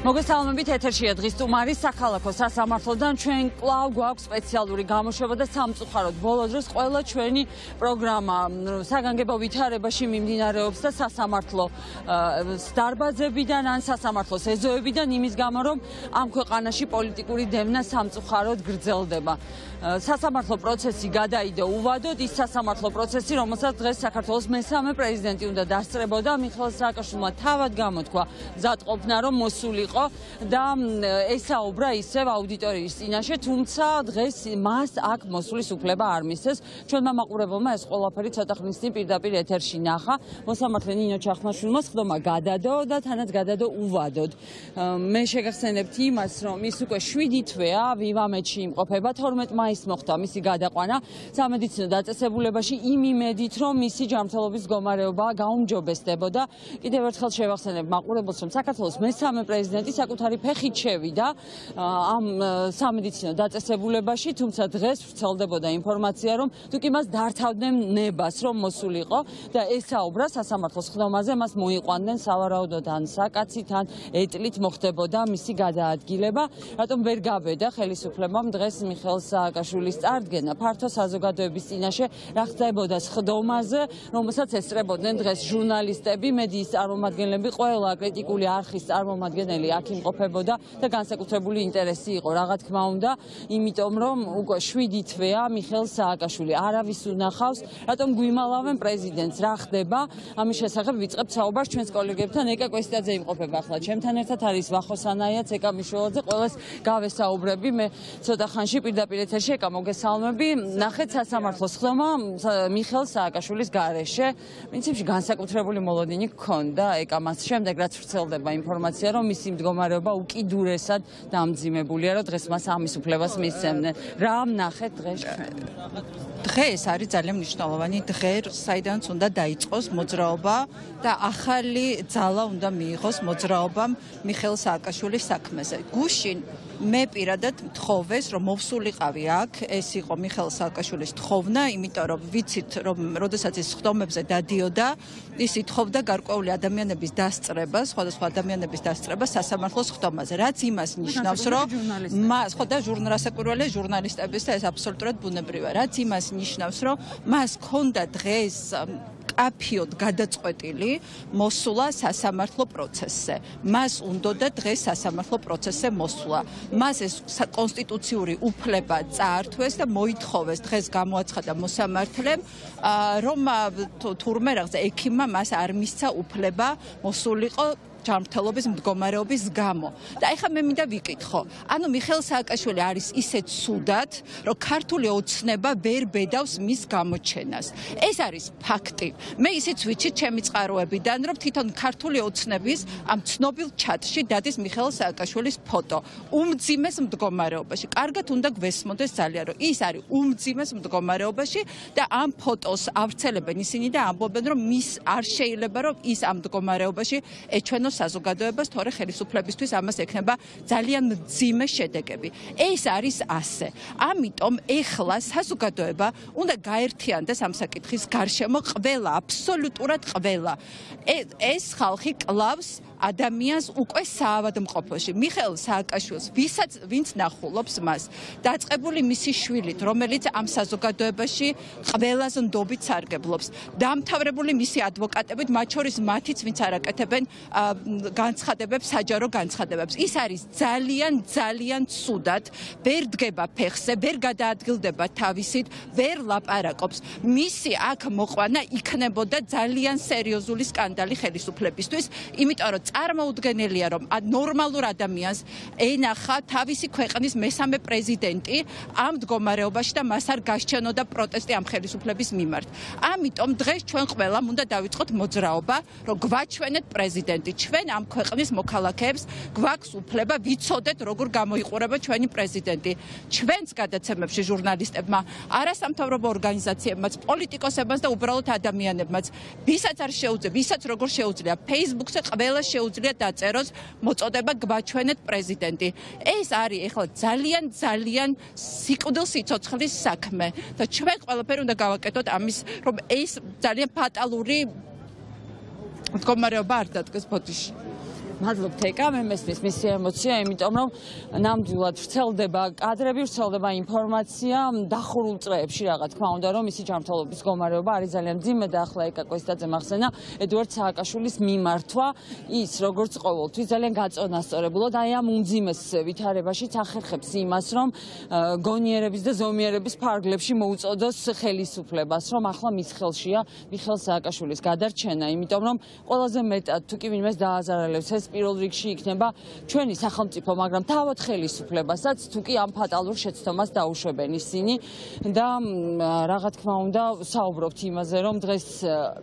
მოგესალმებით, ეთერშია დღის სტუმარი საქალაქო სასამართლოდან. ჩვენ კვლავ გვაქვს სპეციალური გამოშვება და სამწუხაროდ ბოლო დროს ყველა ჩვენი პროგრამა საგანგებო ვითარებაში მიმდინარეობს და სასამართლო დარბაზებიდან ან სასამართლოს ეზოებიდან იმის გამო, რომ ამ ქვეყანაში პოლიტიკური დევნა სამწუხაროდ გრძელდება. სასამართლო პროცესი გადაიდო უვადოდ, ის სასამართლო პროცესი, რომელსაც დღეს საქართველოს მესამე პრეზიდენტი უნდა დასწრებოდა, მიხეილ სააკაშვილმა თავად გამოთქვა მზადყოფნა, რომ მოსულიყო და ესაუბრა ისევ აუდიტორიის წინაშე, თუმცა დღეს მას აქ მოსulis უფლება არ მისცეს. ჩვენმა მაყურებელმა ეს ყველაფერი ცოტა ხნის წინ პირდაპირ ეთერში ნახა. მოსამართლე ნინო ჩახმაშვილმა სხდომა გადადო და თანაც გადადო უვადოდ. მე შეგახსენებთ იმას, რომ ის უკვე 7 თვეა ვივამეთში იმყოფება, 12 მაისს მოხდა მისი გადაყვანა სამედიცინო დაწესებულებაში იმ იმედით, რომ მისი ჯანმრთელობის მდგომარეობა გაუმჯობესდებოდა. კიდევ ერთხელ შევახსენებ მაყურებელს, რომ საქართველოს მესამე პრეზიდენტი საკუთარი ფეხით შევიდა ამ სამედიცინო დაწესებულებაში, თუმცა დღეს ვრცელდებოდა ინფორმაცია, რომ თუკი მას დართავდნენ ნებას, რომ მოსულიყო და ესაუბრა სასამართლოს ხდომაზე, მას მოიყვანდნენ სავარაუდოდ ან საკაცით, ან ეტლით მოხდებოდა მისი გადაადგილება. რატომ ვერ გაბედა ხელისუფლებამ დღეს მიხეილ სააკაშვილის წარდგენა ფართო საზოგადოების წინაშე, რა ხდებოდა ხდომაზე, რომელსაც ესწრებოდნენ დღეს ჟურნალისტები, მედიის წარმომადგენლები, ყველა კრიტიკული არხის წარმომადგენელი აქ იმყოფებოდა და განსაკუთრებული ინტერესი იყო, რა თქმა უნდა, იმიტომ რომ უკვე 7 თვეა მიხეილ სააკაშვილი არავის უნახავს, რატომ გვიმალავენ პრეზიდენტს, რა ხდება? ამის შესახებ ვიწყებთ საუბარს ჩვენს კოლეგებთან. ეკა კვესტაძე იმყოფება ახლა ჩემთან ერთად, არის ვახოსანაიაც, ეკა მიშველაძე, ყველას გავესაუბრები. მე ცოტა ხანში პირდაპირ ეთერში, ეკა მოგესალმები. ნახეთ სასამართლოს ხდომა მიხეილ სააკაშვილის გარეშე. პრინციპში განსაკუთრებული მოლოდინი გქონდა, ეკა მას შემდეგ რაც ვრცელდება ინფორმაცია, რომ მისი მდგომარეობა უკიდურესად დამძიმებულია, რომ დღეს მას ამის უფლებას მისცემდნენ. რა ნახეთ დღეს ჩვენ? დღეს არის ძალიან მნიშვნელოვანი დღე, საიდანაც უნდა დაიწყოს მოძრაობა და ახალი ძალა უნდა მიიღოს მოძრაობამ მიხეილ სააკაშვილის საქმეზე. გუშინ მე პირადად მთხოვეს, რომ მოვსულიყავი აქ, ეს იყო მიხეილ სააკაშვილის თხოვნა, იმიტომ რომ ვიცით, რომ როდესაც ის ხდომებზე დადიოდა, ის ითხოვდა გარკვეული ადამიანების დასწრებას, სხვადასხვა ადამიანების დასწრებას სასამართლოს ხდომაზე, რაც იმას ნიშნავს, რომ მას ხო და რასაკვირველია ჟურნალისტების და ეს აბსოლუტურად ბუნებრივია, რაც იმას ნიშნავს, რომ მას ჰქონდა დღეს კაფიოდ გადაწყვეტილი მოსულა სასამართლო პროცესზე. მას უნდოდა დღეს სასამართლო პროცესზე მოსულა. მას ეს კონსტიტუციური უფლება წაართვეს და მოითხოვეს დღეს გამოაცხადა მოსამართლემ, რომ თურმე რაღაცა ექიმმა მას არ მისცა უფლება მოსულიყო ჯანმრთელობის მდგომარეობის გამო. და ეხლა მე მინდა ვიკითხო, ანუ მიხეილ სააკაშვილი არის ისეთ ცუდად, რომ ქართული ოცნება ვერ ბედავს მის გამოჩენას. ეს არის ფაქტი. მე ისიც ვიცი ჩემი წყაროებიდან, რომ თვითონ ქართული ოცნების ამ ცნობილ ჩატში დადის მიხეილ სააკაშვილის ფოტო. უმძიმეს მდგომარეობაში. კარგად უნდა გვესმოდეს ძალიან, რომ ის არის უმძიმეს მდგომარეობაში და ამ ფოტოს ავრცელებენ ისინი და ამბობენ, რომ მის არ შეიძლება, რომ ის ამ მდგომარეობაში ეჩვენოს საზოგადოებას, თორე ხელისუფლებისთვის ამას ექნება ძალიან მძიმე შედეგები. ეს არის ასე. ამიტომ ეხლა საზოგადოება უნდა გაერთიანდეს ამ საკითხის გარშემო, ყველა, აბსოლუტურად ყველა. ეს ხალხი კლავს ადამიანს უკვე საავადმყოფოში. მიხეილ სააკაშვილს, ვინც ნახულობს მას, დაწყებული მისი შვილით, რომელიც ამ საზოგადოებაში ყველაზე ნდობით სარგებლობს, დამთავრებული მისი ადვოკატებით, მათ შორის მათიც, ვინც არაკეთებენ განცხადებებს, საჯარო განცხადებებს. ის არის ძალიან ცუდად, ვერ დგება ფეხზე, ვერ გადაადგილდება თავისით, ვერ ლაპარაკობს. მისი აქ მოყვანა იქნებოდა ძალიან სერიოზული სკანდალი ხელისუფლებისთვის, იმიტომ რომ წარმოუდგენელია, რომ ნორმალურ ადამიანს ენახა თავისი ქვეყნის მესამე პრეზიდენტი ამ მდგომარეობაში და მას არ გასჩენოდა პროტესტი ამ ხელისუფლების მიმართ. ამიტომ დღეს ჩვენ ყველამ უნდა დავიწყოთ მოძრაობა, რომ გვაჩვენეთ პრეზიდენტი. ჩვენ ამ ქვეყნის მოქალაქეებს გვაქვს უფლება ვიცოდეთ, როგორ გამოიყურება ჩვენი პრეზიდენტი. ჩვენს გადაცემებში ჟურნალისტებმა, არასამთავრობო ორგანიზაციებმაც, პოლიტიკოსებმაც და უბრალოდ ადამიანებმაც, ვისაც არ შეუძლია, ვისაც როგორ შეუძლია, Facebook-ზე ყველა შეუძლია დაწეროს მოწოდება გვაჩვენეთ პრეზიდენტი. ეს არის ეხლა ძალიან სიკვდილსიცოცხლის საქმე და ჩვენ ყველაფერი უნდა გავაკეთოთ ამის, რომ ეს ძალიან ფატალური მდგომარეობა არ დადგეს ბოდიში. მადლობთ ეკა, მე მესმის მისი ემოცია, იმიტომ რომ ნამდვილად ვრცელდება კადრები, ვრცელდება ინფორმაცია დახურულ წრეებში, რა თქმა უნდა, რომ მისი ჯანმრთელობის მდგომარეობა არის ძალიან მძიმე და ახლა ეკა კვესტაძემ ახსენა ედუარდ სააკაშვილის მიმართვა ის როგორც ყოველთვის ძალიან გაწონასწორებულად აი ამ უმძიმეს ვითარებაშიც ახერხებს იმას, რომ გონიერების და ზომიერების ფარგლებში მოუწოდოს ხელისუფლებას, რომ ახლა მის ხელშია მიხეილ სააკაშვილის გადარჩენა, იმიტომ რომ ყველაზე მეტად თუ კი ვინმეს დააზარალებს ეს პირველ რიგში იქნება ჩვენი სახელმწიფო, მაგრამ თავად ხელისუფლებასაც თუ კი ამ ფატალურ შეცდომას დაუშვებენ ისინი და რა თქმა უნდა საუბრობთ იმაზე, რომ დღეს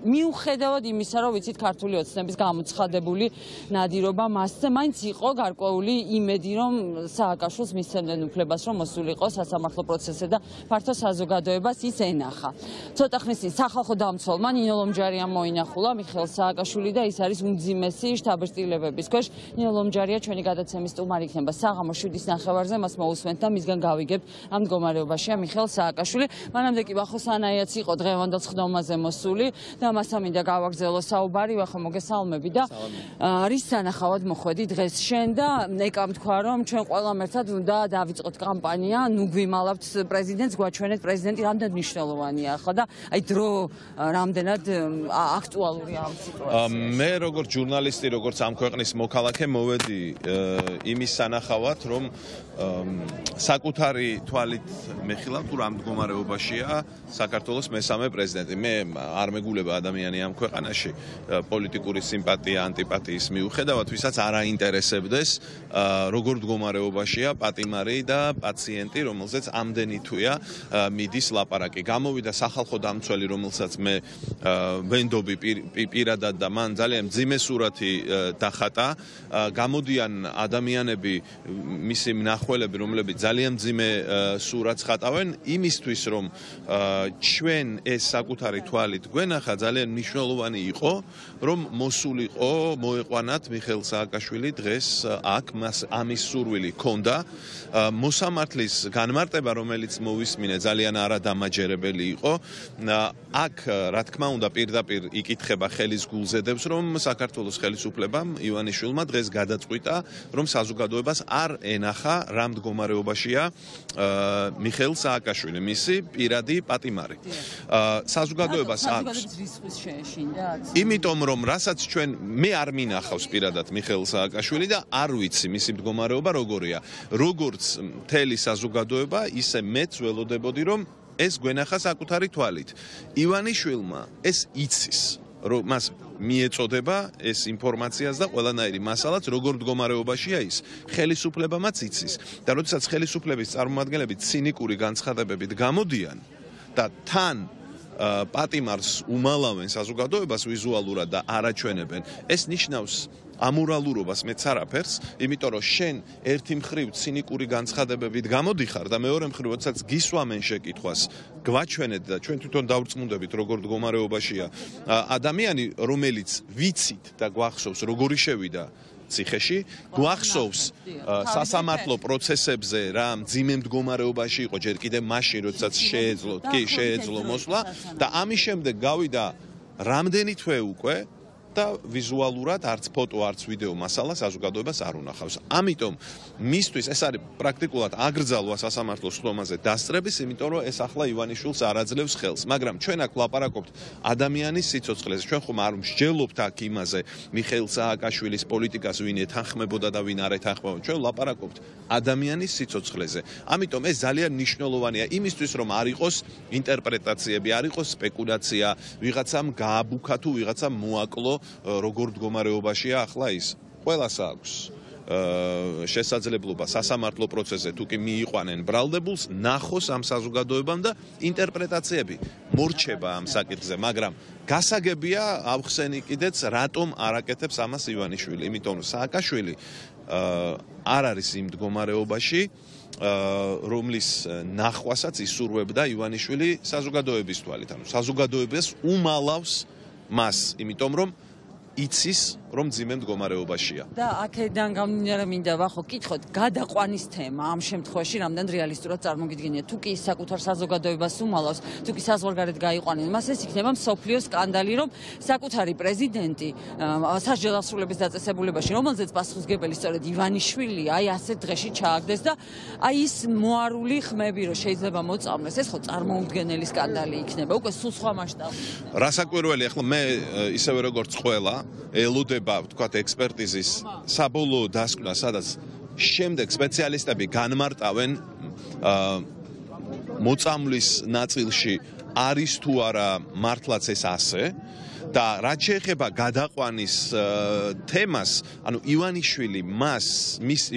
მიუხედავად იმისა, რომ ვიცით ქართული ოცნების გამოცხადებული ნადირობა მასზე, მაინც იყო გარკვეული იმედი, რომ სააკაშვილს მისცემდნენ უფლებას, რომ მოსულიყო სასამართლო პროცესზე და ფართო საზოგადოებას ის ენახა. ცოტა ხნის წინ სახალხო დამცველმა ნინო ლომჯარიამ მოინახულა მიხეილ სააკაშვილი და ის არის უმძიმესი შტაბ-სტილებების ქვეშ. ნინო ლომჯარია ჩვენი გადაცემის სტუმარი იქნება საღამოს 7:30-ზე, მას მოусვენთ და მისგან გავიგებთ ამ მდგომარეობაშია მიხეილ სააკაშვილი. მანამდე კი ვახოსანაიაც იყო დღევანდელ სხდომაზე მოსული და მასთან მინდა გავაგზავნო საუბარი, ვახო მოგესალმები და რის სანახავად მოხვედი დღეს შენ და ეკამ თქვა რომ ჩვენ ყველამ ერთად უნდა დავიწყოთ კამპანია, ნუ გვიმალავთ პრეზიდენტს, გვაჩვენეთ პრეზიდენტი რამდენად მნიშვნელოვანია ახლა და აი დრო რამდენად აქტუალურია ამ სიტუაციაში. მე როგორც ჟურნალისტი, როგორც ამ ქვეყნის მოქალაქე მოვედი იმის სანახავად, რომ საკუთარი თვალით მეხილავ თუ რა მდგომარეობაშია საქართველოს მესამე პრეზიდენტი. მე არ მეგულება ადამიანი ამ ქვეყანაში პოლიტიკური სიმპათია, ანტიპათიის მიუხედავად, ვისაც არ აინტერესებდეს როგორ მდგომარეობაშია პატიმარი და პაციენტი, რომელზეც ამდენი თვეა მიდის ლაპარაკი. გამოვიდა სახალხო დამცველი, რომელსაც მე ვენდობი პირადად და მან ძალიან მძიმე სურათი დახატა. გამოდიან ადამიანები, მისი მნახველები, რომლებიც ძალიან მძიმე სურათს ხატავენ, იმისთვის რომ ჩვენ ეს საკუთარი თვალით გვენახა, ძალიან მნიშვნელოვანი იყო, რომ მოსულიყო, მოეყვანათ მიხეილ სააკაშვილი დღეს აქ, მას ამის სურვილი ჰქონდა. მოსამართლის განმარტება, რომელიც მოვისმინე, ძალიან არადამაჯერებელი იყო. აქ, რა თქმა უნდა, პირდაპირ იკითხება ხელის გულზედებს, რომ საქართველოს ხელისუფლებამ ივანიშვილმა დღეს გადაწყვიტა, რომ საზოგადოებას არ ენახა რა მდგომარეობაშია მიხეილ სააკაშვილი, მისი პირადი პატიმარი. საზოგადოებას აქვს რისხვის შეეშინდა. იმიტომ რომ რასაც ჩვენ მე არ მინახავს პირადად მიხეილ სააკაშვილი და არ ვიცი მისი მდგომარეობა როგორია. როგორც მთელი საზოგადოება, ისე მეც ველოდებოდი, რომ ეს გვენახა საკუთარი თვალით. ივანიშვილმა ეს იცის, რომ მას მიეწოდება ეს ინფორმაციას და ყველანაირი მასალაც როგორ მდგომარეობაშია ის. ხელისუფლებამაც იცის. და როდესაც ხელისუფლების წარმომადგენლები ცინიკური განცხადებებით გამოდიან და თან პატიმარს უმალავენ საზოგადოებას ვიზუალურად და არაჩვენებენ, ეს ნიშნავს ამორალურობას მეც არაფერს, იმიტომ რომ შენ ერთი მხრივ ცინიკური განცხადებებით გამოდიხარ და მეორე მხრივ, როდესაც გისვამენ შეკითხვას, გვაჩვენეთ და ჩვენ თვითონ დავწმუნდებით როგორ მდგომარეობაშია ადამიანი, რომელიც ვიცით და გვახსოვს როგორი შევიდა ციხეში, გვახსოვს სასამართლო პროცესებზე რა მძიმე მდგომარეობაში იყო ჯერ კიდევ მაშინ, როდესაც შეეძლო მოსვლა და ამის შემდეგ გავიდა რამდენი თვე უკვე და ვიზუალურად არც ფოტო, არც ვიდეო მასალა საზოგადოებას არ უნახავს. ამიტომ მისთვის ეს არის პრაქტიკულად აკრძალვა სასამართლო სხდომაზე დასწრების, იმიტომ რომ ეს ახლა ივანიშვილს არ აძლევს ხელს. მაგრამ ჩვენ აქ ვლაპარაკობთ ადამიანის სიცოცხლეზე. ჩვენ ხომ არ მსჯელობთ აქ იმაზე მიხეილ სააკაშვილის პოლიტიკას ვინ ეთანხმებოდა და ვინ არ ეთანხმებოდა. ჩვენ ვლაპარაკობთ ადამიანის სიცოცხლეზე. ამიტომ ეს ძალიან მნიშვნელოვანია იმისთვის, რომ არ იყოს ინტერპრეტაციები, არ იყოს სპეკულაცია, ვიღაცამ გააბუქა თუ ვიღაცამ მოაკლო როგორ მდგომარეობაშია ახლა ის. ყველას აქვს შესაძლებლობა სასამართლო პროცესზე თუ კი მიიყვანენ ბრალდებულს, ნახოს ამ საზოგადოებამ და ინტერპრეტაციები მორჩება ამ საკითხზე, მაგრამ გასაგებია ავხსენი კიდეც რატომ არ აკეთებს ამას ივანიშვილი, იმიტომ რომ სააკაშვილი არ არის იმ მდგომარეობაში, რომლის ნახვასაც ისურვებდა ივანიშვილი საზოგადოების თვალით, ანუ საზოგადოებას უმალავს მას, იმიტომ რომ იცის რომ მძიმე მდგომარეობაშია. და აქედან გამომდინარე მინდა ვახო კითხოთ გადაყვანის თემა ამ შემთხვევაში რამდენ რეალისტურად წარმოგიდგენია თუ კი საკუთარ საზოგადოებას უმალავს თუ კი საზღვარგარეთ გაიყვანენ მას ეს იქნება მსოფლიო სკანდალი რომ საკუთარი პრეზიდენტი სასჯელ დასრულების დაწესებულებაში რომელზეც პასუხისმგებელი სწორედ ივანიშვილი აი ასეთ დღეში ჩააგდეს და აი ის მოარული ხმები რომ შეიძლება მოწამლეს ეს ხო წარმოუდგენელი სკანდალი იქნება უკვე სულ სხვა მასშტაბში. რასაკვირველი ახლა მე ისევე როგორც ყველა ელოდება ვთქვათ ექსპერტიზის საბოლოო დასკვნა სადაც შემდეგ სპეციალისტები განმარტავენ მოწამვლის ნაწილში არის თუ არა მართლაც ეს ასე და რაც შეეხება გადაყვანის თემას, ანუ ივანიშვილი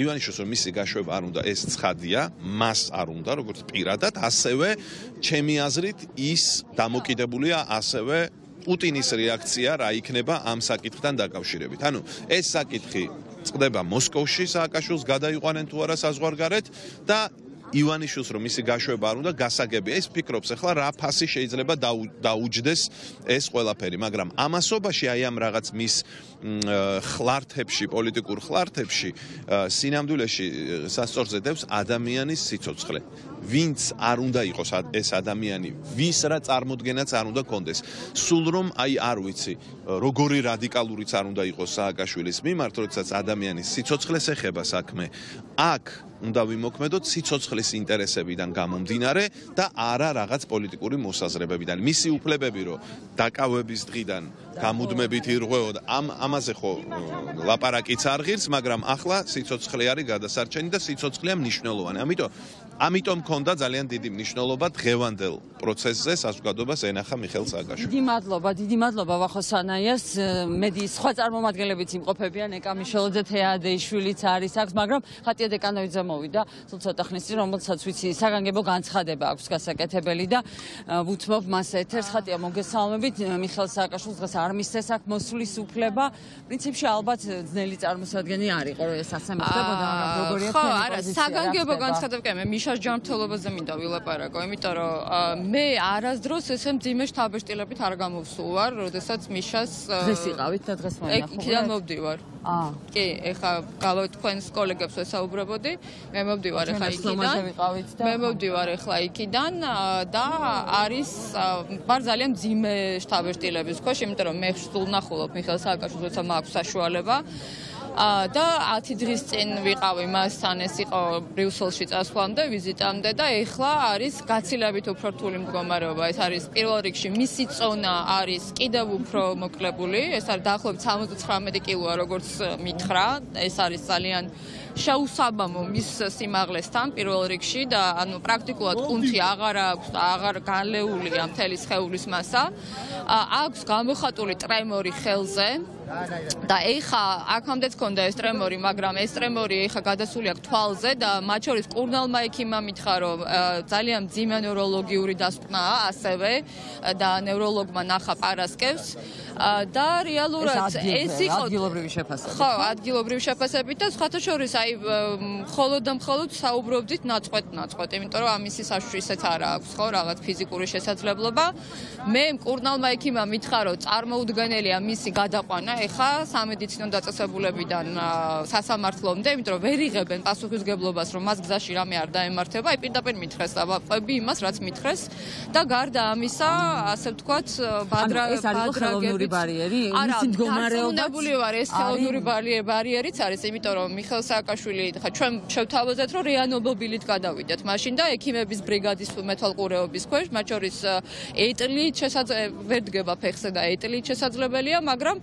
ივანიშვილს რომ მისი გაშვება არ უნდა ეს ცხადია, მას არ უნდა როგორც პირადად, ასევე ჩემი აზრით ის დამოკიდებულია ასევე პუტინის რეაქცია რა იქნება ამ საკითხთან დაკავშირებით. ანუ ეს საკითხი წყდება მოსკოვში სააკაშვილს გადაიყვანენ თუ არა საზღვარგარეთ და ივანიშვილს რომ მისი გაშვება არ უნდა გასაგებია ის ფიქრობს ახლა რა ფასი შეიძლება დაუჯდეს ეს ყველაფერი მაგრამ ამასობაში აი ამ რაღაც მის ხლართებში პოლიტიკურ ხლართებში სინამდვილეში სასწორზე დევს ადამიანის სიცოცხლე ვინც არ უნდა იყოს ეს ადამიანი ვის რა წარმოდგენაც არ უნდა კონდეს სულ რომ აი არ ვიცი როგორი რადიკალურიც არ უნდა იყოს სააკაშვილის მიმართ როდესაც ადამიანის სიცოცხლეს ეხება საქმე აქ უნდა ვიმოქმედოთ სიცოცხლის ინტერესებიდან გამომდინარე და არა რაღაც პოლიტიკური მოსაზრებებიდან. მისი უფლებები რომ დაკავების დღიდან გამუდმებით ირღვეოდ ამაზე ხო ლაპარაკიც არ ღირს, მაგრამ ახლა სიცოცხლე არის გადასარჩენი და სიცოცხლეა მნიშვნელოვანი. ამიტომ მქონდა ძალიან დიდი მნიშვნელობა დღევანდელ პროცესზე საზოგადოებას ენახა მიხეილ სააკაშვილი. დიდი მადლობა ვახო სანაიას. მედიის სხვა წარმომადგენლებიც იმყოფებიან ეკამიშელოძე თეადეიშვილიც არის აქ, მაგრამ ხატია დეკანოვიძე მოვიდა სულ ცოტა ხნის წინ, რომელსაც ვიცი საგანგებო განცხადება აქვს გასაკეთებელი და ვუთმობ მას ეთერს. ხატია მოგესალმებით. მიხეილ სააკაშვილს დღეს არ მისცეს აქ მოსვლის უფლება. პრინციპში ალბათ ძნელი წარმოსადგენი არ იყო, რომ ეს ასე მოხდებოდა, მაგრამ როგორია ხო, არა, საგანგებო განცხადება მე მიშას ჯანმრთელობაზე მინდა ვილაპარაკო, იმიტომ რომ მე არასდროს ესე მძიმე შთაბეჭდილებით არ გამოვსულ ვარ, როდესაც მიშას დღეს იყავით და დღეს მოინახულეთ. იქიდან მოვდივარ. კი, ეხა გავავით თქვენს კოლეგებს ვესაუბრებოდი, მე მოვდივარ ეხა იქიდან. მე მოვდივარ ეხლა იქიდან და არის ვარ ძალიან მძიმე შთაბეჭდილების ქვეშ, იმიტომ რომ მე სულ ვნახულობ მიხეილ სააკაშვილს, როცა მაქვს საშუალება. და 10 დღის წინ ვიყავი მასთან, ეს იყო ბრიუსელში წასვლამდე, ვიზიტამდე და ეხლა არის გაცილებით უფრო რთული მდგომარეობა. ეს არის პირველ რიგში მისი წონა არის კიდევ უფრო მოკლებული, ეს არის დაახლოებით 79 კილოა, როგორც მითხრა, ეს არის ძალიან შეუსაბამო მის სიმაღლესთან პირველ რიგში და ანუ პრაქტიკულად კუნთი აღარ აქვს და აღარ განლეულია მთელი სხეულის მასა. აქვს გამოხატული ტრემორი ხელზე და ეხა აქამდეც ქონდა ეს ტრემორი, მაგრამ ეს ტრემორი ეხა გადასული აქვს თვალზე და მათ შორის კურნალმა ექიმმა მითხრა, რომ ძალიან მძიმე ნევროლოგიური დასკვნაა ასევე და ნევროლოგმა ნახა პარასკევს და რეალურად ეს იყო ადგილობრივი შეფასებით. ხო, ადგილობრივი შეფასებით და სხვათა შორის აი მხოლოდ და მხოლოდ საუბრობდით ნაწყვეტ, იმიტომ რომ ამისი საშუალება ისეც არ აქვს, ხო, რაღაც ფიზიკური შესაძლებლობა. მე კურნალმა ექიმმა მითხრა, რომ წარმოუდგენელია მისი გადაყვანა ეხა სამედიცინო დაწესებულებიდან სასამართლომდე, იმიტომ რომ ვერ იღებენ პასუხისმგებლობას, რომ მას გზაში რამე არ დაემართება, აი პირდაპირ მითხრეს და ვაყვები იმას, რაც მითხრეს და გარდა ამისა, ასე ვთქვათ, ეს არის ხელოვნური ბარიერი, მისი მდგომარეობაც ვარ, ეს ხელოვნური ბარიერიც არის, იმიტომ რომ მიხეილ სააკაშვილი, ხა ჩვენ შევთავაზეთ, რომ რეანიმობილით გადავიდეთ მაშინ და ექიმების ბრიგადის მეთვალყურეობის ქვეშ, მათ შორის ეტლით ვერ დგება ფეხზე და ეტლით შესაძლებელია, მაგრამ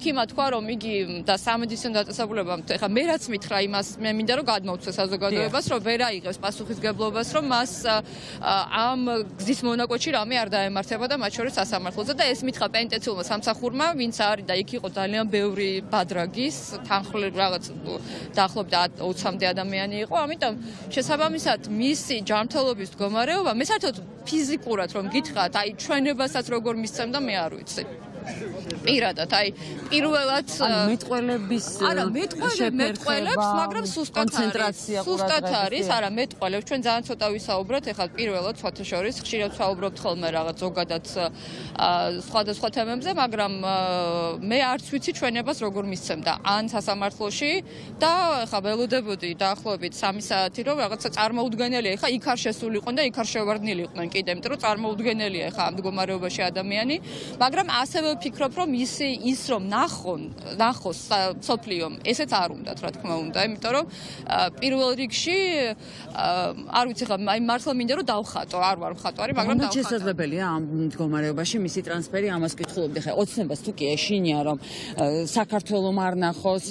ექიმა თქვა, რომ იგი და სამედიცინო დაწესებულებამ, ხა მე რაც მითხრა იმას, მე მინდა რომ გადმოვცე საზოგადოებას, რომ ვერ აიღებს პასუხისმგებლობას, რომ მას ამ გზის მონაკვეთში რამე არ დაემართება და მათ შორის სასამართლოზე და ეს მითხრა პენტეცილმა სამსახურმა, ვინც არის და იქ იყო ძალიან ბევრი ბადრაგის, თანხმლები რაღაც დაახლოებით 20-მდე ადამიანი იყო, ამიტომ შესაბამისად მისი ჯანმრთელობის მდგომარეობა, მე საერთოდ ფიზიკურად რომ გითხრათ, აი ჩვენებასაც როგორ მისცემდა, მე არ ვიცი. პირადად, აი, პირველად მეტყველების არა, მეტყველებს, მაგრამ სუსტად არის, არა, მეტყველებს. ჩვენ ძალიან ცოტა ვისაუბროთ, ეხლა პირველად სხვათა შორის ხშირად ვსაუბრობთ ხოლმე რაღაც ზოგადად სხვადასხვა თემებზე, მაგრამ მე არც ვიცი ჩვენებას როგორ მისცემდა ან სასამართლოში და ეხლა ველოდებოდი დაახლოებით 3 საათი რომ რაღაცა წარმოუდგენელია, ეხლა იქ არ შესულიყვნენ და იქ არ შევარდნილიყვნენ კიდე, იმიტომ რომ წარმოუდგენელია ეხლა ამ მდგომარეობაში ადამიანი, მაგრამ ასევე ვფიქრობ, რომ ის რომ ნახოს სოფლიომ, ესეც არ უნდათ, რა თქმა უნდა, იმიტომ რომ პირველ რიგში არ ვიცი ხა, აი მართლა მინდა რომ დავხატო, არ ვარ მხატვარი, მაგრამ დავხატო. შესაძლებელია ამ მდგომარეობაში მისი ტრანსფერი, ამას კითხულობდი ხა, ოცნებას თუ კი ეშინია რომ საქართველოს არ ნახოს,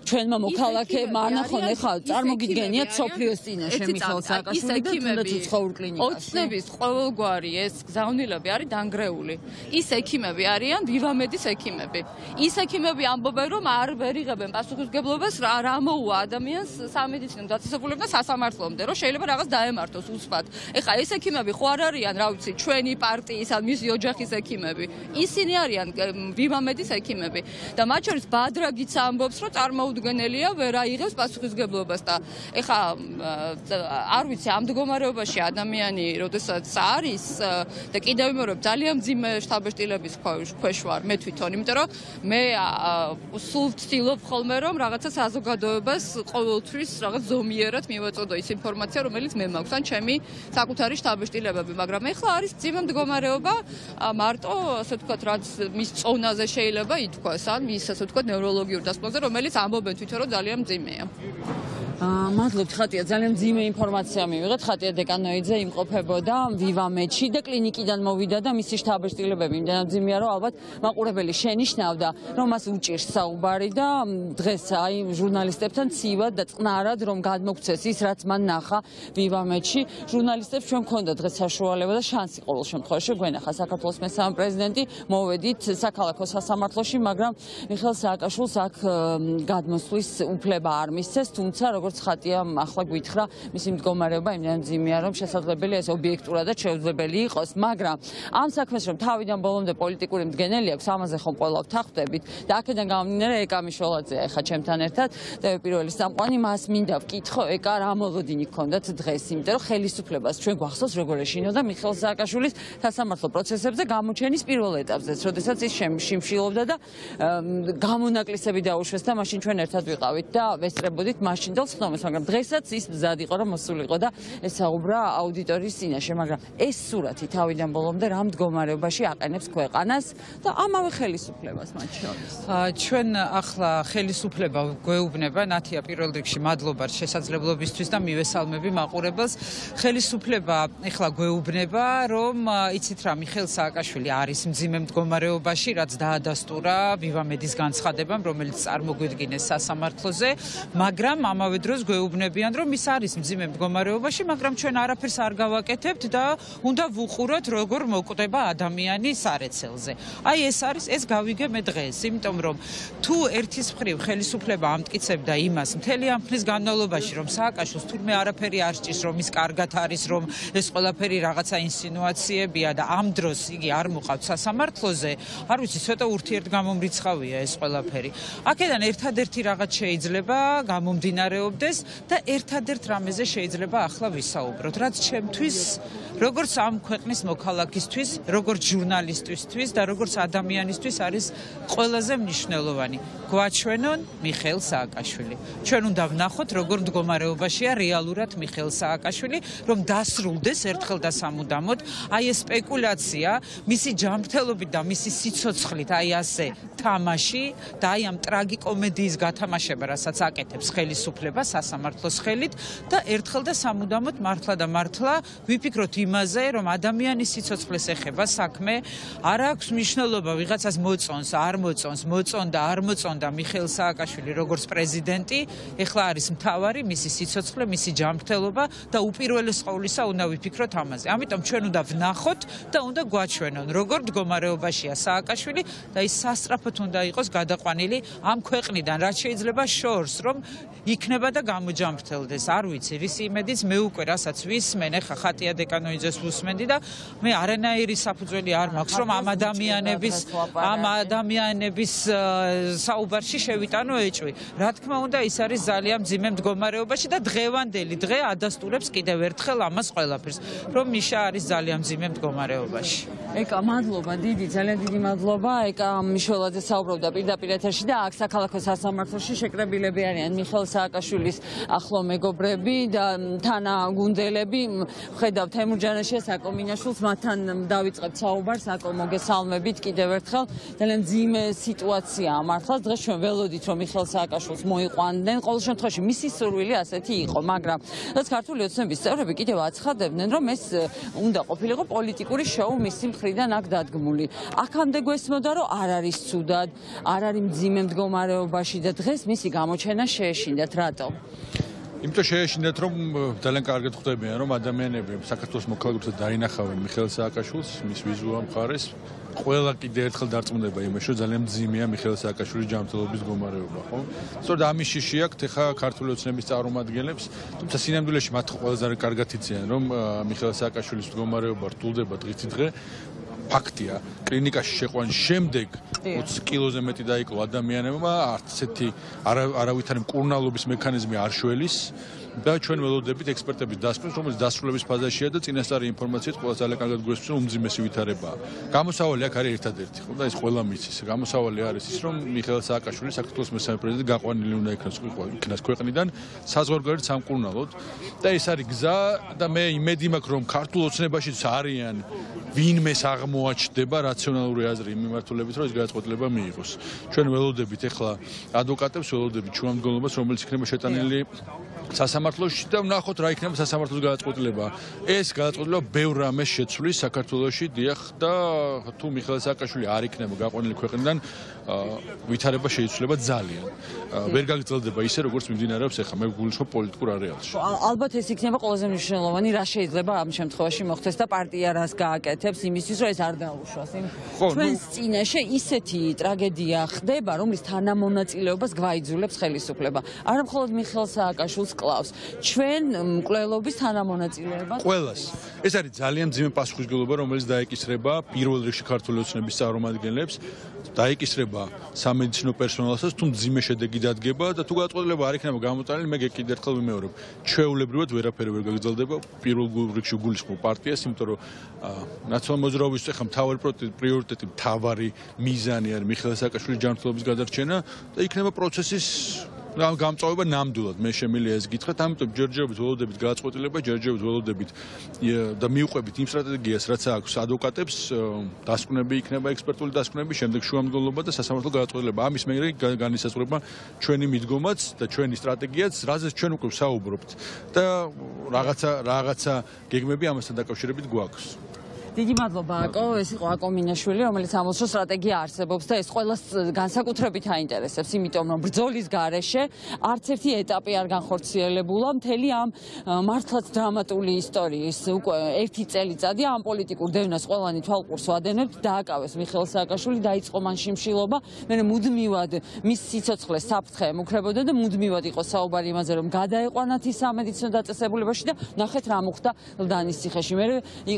ჩვენმა მოქალაქეებმა არ ნახონ, ეხლა წარმოგიდგენიათ სოფლიოს წინაშე მიხეილ სააკაშვილი და თუნდაც უცხოურ კლინიკაში. ოცნების ყოველგვარი ეს გზავნილები არის დანგრეული. ის ექიმები არიან ვივამედის ექიმები. ის ექიმები ამბობენ რომ არ ვერიღებენ პასუხისმგებლობას რა მოუვა ადამიანს სამედიცინო დაწესებულებიდან სასამართლომდე, რომ შეიძლება რაღაც დაემართოს უსვათ. ეხლა ეს ექიმები ხო არ არიან, რა ვიცი, ჩვენი პარტიის ან მისი ოჯახის ექიმები. ისინი არიან ვივამედის ექიმები და მათ შორის ბადრაგიც ამბობს, რომ წარმოუდგენელია ვერ აიღებს პასუხისმგებლობას და ეხლა არ ვიცი, ამ მდგომარეობაში ადამიანი როდესაც არის და კიდევ ვიმეორებ ძალიან მძიმე შთაბეჭდილების ქვეშ ვარ მე თვითონ, იმიტომ რომ მე სულ ვცდილობ ხოლმე რომ რაღაცა საზოგადოებას ყოველთვის რაღაც ზომიერად მივაწოდო ის ინფორმაცია, რომელიც მე მაქვს ან ჩემი საკუთარი შთაბეჭდილებები, მაგრამ ეხლა არის მძიმე მდგომარეობა, მარტო ასე ვთქვათ, რაც მის წონაზე შეიძლება ითქვას, ან მის ასე ვთქვათ ნევროლოგიურ დასკვნაზე, რომელიც ამბობენ თვითონ რომ ძალიან მძიმეა. მადლობთ, ხატია, ძალიან მძიმე ინფორმაცია მივიღეთ. ხატია დეკანოიძე იმყოფებოდა ვივამედში და კლინიკიდან მოვიდა და მისი შთაბეჭდილებები იმდენად მძიმეა, რომ ალბათ მაყურებელი შენიშნავდა, რომ მას უჭირს საუბარი და დღეს აი ჟურნალისტებთან ცივად და წყნარად რომ გადმოგცეს ის, რაც მან ნახა ვივამედში. ჟურნალისტებს ჩვენ გქონდა დღეს საშუალება და შანსი ყოველ შემთხვევაში გვენახა საქართველოს მესამე პრეზიდენტი, მოვედით საქალაქო სასამართლოში, მაგრამ მიხეილ სააკაშვილს აქ გადმოსვლის უფლება არ მისცეს, თუმცა როგორც ხატია ახლა გვითხრა, მისი მდგომარეობა იმდენად მძიმეა, რომ შესაძლებელია ეს ობიექტურად და შეუძლებელი იყოს, მაგრამ ამ საქმეს რომ თავიდან ბოლომდე პოლიტიკური მდგენელი აქვს, ამაზე ხომ ყველა ვთანხმდებით და აქედან გამომდინარე ეკა მიშველაძეა ეხა ჩემთან ერთად და პირველი სამყარო მას მინდა ვკითხო, ეკა რა მოლოდინი გქონდათ დღეს, იმიტომ რომ ხელისუფლებას ჩვენ გვახსოვს როგორ ეშინოდა მიხეილ სააკაშვილის სასამართლო პროცესებზე გამოჩენის პირველ ეტაპზეც, როდესაც ის შიმშილობდა და გამონაკლისები დაუშვეს და მაშინ ჩვენ ერთად ვიყავით და ვესწრებოდით მაშინდელ ხდომას, მაგრამ დღესაც ის მზად იყო რომ მოსულიყო და ესაუბრა აუდიტორიის წინაშე, მაგრამ ეს სურათი თავიდან ბოლომდე რა მდგომარეობაში აყენებს ქვეყანას და ამავე ხელისუფლებას მათ შორის. ჩვენ ახლა ხელისუფლება გვეუბნება, ნათია პირველ რიგში მადლობა შესაძლებლობისთვის და მივესალმები მაყურებელს. ხელისუფლება ახლა გვეუბნება, რომ იცით რა, მიხეილ სააკაშვილი არის მძიმე მდგომარეობაში, რაც დაადასტურა ვივამედის განცხადებამ, რომელიც წარმოგვიდგინეს სასამართლოზე, მაგრამ ამავე დროს გვეუბნებიან, რომ ის არის მძიმე მდგომარეობაში, მაგრამ ჩვენ არაფერს არ გავაკეთებთ და უნდა ვუყუროთ, როგორ მოკვდება ადამიანი სარეცელზე. აი ეს გავიგე მე დღეს, იმიტომ რომ თუ ერთის მხრივ ხელისუფლება ამტკიცებდა იმას მთელი ამ ხნის განმავლობაში, რომ სააკაშვილს თურმე არაფერი არ სჭირს, რომ ის კარგად არის, რომ ეს ყველაფერი რაღაცა ინსინუაციებია და ამ დროს იგი არ მოყავთ სასამართლოზე, არ ვიცი, ცოტა ურთიერთგამომრიცხავია ეს ყველაფერი. აქედან ერთადერთი რაღაც შეიძლება გამომდინარეობდეს და ერთადერთ რამეზე შეიძლება ახლა ვისაუბროთ, რაც ჩემთვის, როგორც ამ ქვეყნის მოქალაქისთვის, როგორც ჟურნალისტისთვის და როგორც ადამიანისთვის არის ყველაზე მნიშვნელოვანი. გვაჩვენონ მიხეილ სააკაშვილი. ჩვენ უნდა ვნახოთ, როგორ მდგომარეობაშია რეალურად მიხეილ სააკაშვილი, რომ დასრულდეს ერთხელ და სამუდამოდ აი ეს სპეკულაცია, მისი ჯანმრთელობით და მისი სიცოცხლით, აი ასე თამაში და აი ამ ტრაგიკომედიის გათამაშება, რასაც აკეთებს ხელისუფლება სასამართლოს ხელით და ერთხელ და სამუდამოდ მართლა და მართლა ვიფიქროთ იმაზე, რომ ადამიანის სიცოცხლეს ეხება საქმე, არ აქვს მნიშვნელობა ვიღაცას მოწონს, არ მოწონს, მოწონდა, არ მოწონდა მიხეილ სააკაშვილი როგორც პრეზიდენტი, ეხლა არის მთავარი მისი სიცოცხლე, მისი ჯანმრთელობა და უპირველეს ყოვლისა უნდა ვიფიქროთ ამაზე. ამიტომ ჩვენ უნდა ვნახოთ და უნდა გვაჩვენონ, როგორ მდგომარეობაშია სააკაშვილი და ის სასწრაფოდ უნდა იყოს გადაყვანილი ამ ქვეყნიდან, რაც შეიძლება შორს, რომ იქნება და გამოჯამრთელდეს. არ ვიცი, რის იმედიც მე უკვე რასაც ვისმენ, ეხა ხატია დეკანოიძეს ვუსმენდი და მე არანაირი საფუძველი არ მაქვს, რომ ამ ადამიანების საუბარში შევიტანო ეჭვი. რა თქმა უნდა, ის არის ძალიან მძიმე მდგომარეობაში და დღევანდელი დღე ადასტურებს კიდევ ერთხელ ამას ყველაფერს, რომ მიშა არის ძალიან მძიმე მდგომარეობაში. ეკა, მადლობა, ძალიან დიდი მადლობა. ეკა მიშველაძე საუბრობდა პირდაპირ ეთერში და აქ საქალაქო სასამართლოში შეკრებილები არიან მიხეილ სააკაშვილის ახლო მეგობრები და თანაგუნდელები. ხედავ თემურ ჯანაშიას, აკო მინაშვილს, მათთან დავიწყებთ საუბარს. აკო, მოგესალმებით კიდევ ერთხელ. ძალიან მძიმე სიტუაციაა მართლაც. დღეს ჩვენ ველოდით, რომ მიხეილ სააკაშვილს მოიყვანდნენ. ყოველ შემთხვევაში მისი სურვილი ასეთი იყო, მაგრამ რაც ქართული ოცნების წევრები კიდევ აცხადებდნენ, რომ ეს უნდა ყოფილიყო პოლიტიკური შოუ მისი მხრიდან აქ დადგმული. აქამდე გვესმოდა, რომ არ არის ცუდად, არ არის მძიმე მდგომარეობაში და დღეს მისი გამოჩენა შეეშინდათ. რატო? იმიტომ შეეშინდათ, რომ ძალიან კარგად ხვდებიან, რომ ადამიანები საქართველოს მოქალაქეებსაც დაინახავენ მიხეილ სააკაშვილს, მის ვიზუალურ მხარეს. ყველა კიდე ერთხელ დარწმუნდება იმაში, რომ ძალიან მძიმეა მიხეილ სააკაშვილის ჯანმრთელობის მდგომარეობა, ხო? სწორედ ამის შიში აქვს ეხა ქართული ოცნების წარმომადგენლებს, თუმცა სინამდვილეში მათ ყველაზე კარგად იციან, რომ მიხეილ სააკაშვილის მდგომარეობა რთულდება დღითი დღე. ფაქტია, კლინიკაში შეყვანის შემდეგ 20 კილოზე მეტი დაიკლო ადამიანებმა, არც ესეთი არავითარი მკურნალობის მექანიზმი არ შველის და ჩვენ ველოდებით ექსპერტების დასკვნას, რომელიც დასრულების ფაზაშია და წინასწარი ინფორმაციით ყველა ძალიან კარგად გვესმის, რომ უმძიმესი ვითარებაა. გამოსავალი აქ არის ერთადერთი, ხო და ეს ყველა მიცის. გამოსავალი არის ის, რომ მიხეილ სააკაშვილი საქართველოს მესამე პრეზიდენტი გაყვანილი უნდა იქნას ქვეყნიდან საზღვარგარეთ სამკურნალოდ და ეს არის გზა და მე იმედი მაქვს, რომ ქართულ ოცნებაშიც არიან ვინმეს აღმოაჩნდება რაციონალური აზრი იმ მიმართულებით, რომ ეს გადაწყვეტილება მიიღოს. ჩვენ ველოდებით ახლა ადვოკატებს, ველოდებით შუამდგომლობას, რომელიც იქნება შეტანილი სასამართლოში და ვნახოთ რა იქნება სასამართლოს გადაწყვეტილება. ეს გადაწყვეტილება ბევრ რამეს შეცვლის საქართველოში, დიახ და თუ მიხეილ სააკაშვილი არ იქნება გაყვანილი ქვეყნიდან, ვითარება შეიცვლება ძალიან. ვერ გაგრძელდება ისე, როგორც მიმდინარეობს ახლა, მე გულისხმობ პოლიტიკურ არეალში. ალბათ ეს იქნება ყველაზე მნიშვნელოვანი, რა შეიძლება ამ შემთხვევაში მოხდეს და პარტია რას გააკეთებს იმისთვის, რომ ეს არ დაუშვას. ჩვენს წინაშე ისეთი ტრაგედია ხდება, რომლის თანამონაწილეობას გვაიძულებს ხელისუფლება. არა მხოლოდ მიხეილ სააკაშვილს კლავს. ჩვენ მკვლელობის თანამონაწილეობას ყველას. ეს არის ძალიან მძიმე პასუხისმგებლობა, რომელიც დაეკისრება პირველ რიგში ქართული ოცნების წარმომადგენლებს, დაეკისრება სამედიცინო პერსონალსაც, თუ მძიმე შედეგი დადგება და თუ გადაწყვეტილება არ იქნება გამოტანილი, მე კიდევ ერთხელ ვიმეორებ, ჩვეულებრივად ვერაფერი ვერ გაგრძელდება პირველ რიგში გულისხმობ პარტიას, იმიტომ რომ ნაციონალურ მოძრაობის ახლა მთავარი პრიორიტეტი, მთავარი მიზანი არის მიხეილ სააკაშვილის ჯანმრთელობის გადარჩენა და იქნება პროცესის გამწვავება ნამდვილად. მე შემიძლია ეს გითხრათ, ამიტომ ჯერჯერობით ველოდებით გადაწყვეტილება, ჯერჯერობით ველოდებით და მიუყვებით იმ სტრატეგიას, რაც აქვს ადვოკატებს, დასკვნები იქნება ექსპერტული დასკვნები, შემდეგ შუამდგომლობა და სასამართლო გადაწყვეტილება. ამის მერე განისაზღვრება ჩვენი მიდგომაც და ჩვენი სტრატეგიაც, რაზეც ჩვენ უკვე ვსაუბრობთ და რაღაცა გეგმები ამასთან დაკავშირებით გვაქვს. დიდი მადლობა აკო, ეს იყო აკო მინაშვილი, რომელიც ამბობს, რომ სტრატეგია არსებობს და ეს ყველას განსაკუთრებით აინტერესებს, იმიტომ რომ ბრძოლის გარეშე არც ერთი ეტაპი არ განხორციელებულა მთელი ამ მართლაც დრამატული ისტორიის უკვე ერთი წელიწადია ამ პოლიტიკურ დევნას ყველანი თვალყურს ვადენებთ, დააკავეს მიხეილ სააკაშვილი, დაიწყო მან შიმშილობა, მე მუდმივად მის სიცოცხლეს საფრთხე ემუქრებოდა და მუდმივად იყო საუბარი იმაზე, რომ გადაეყვანათ ის სამედიცინო დაწესებულებაში და ნახეთ რა მოხდა ლდანის ციხეში. მე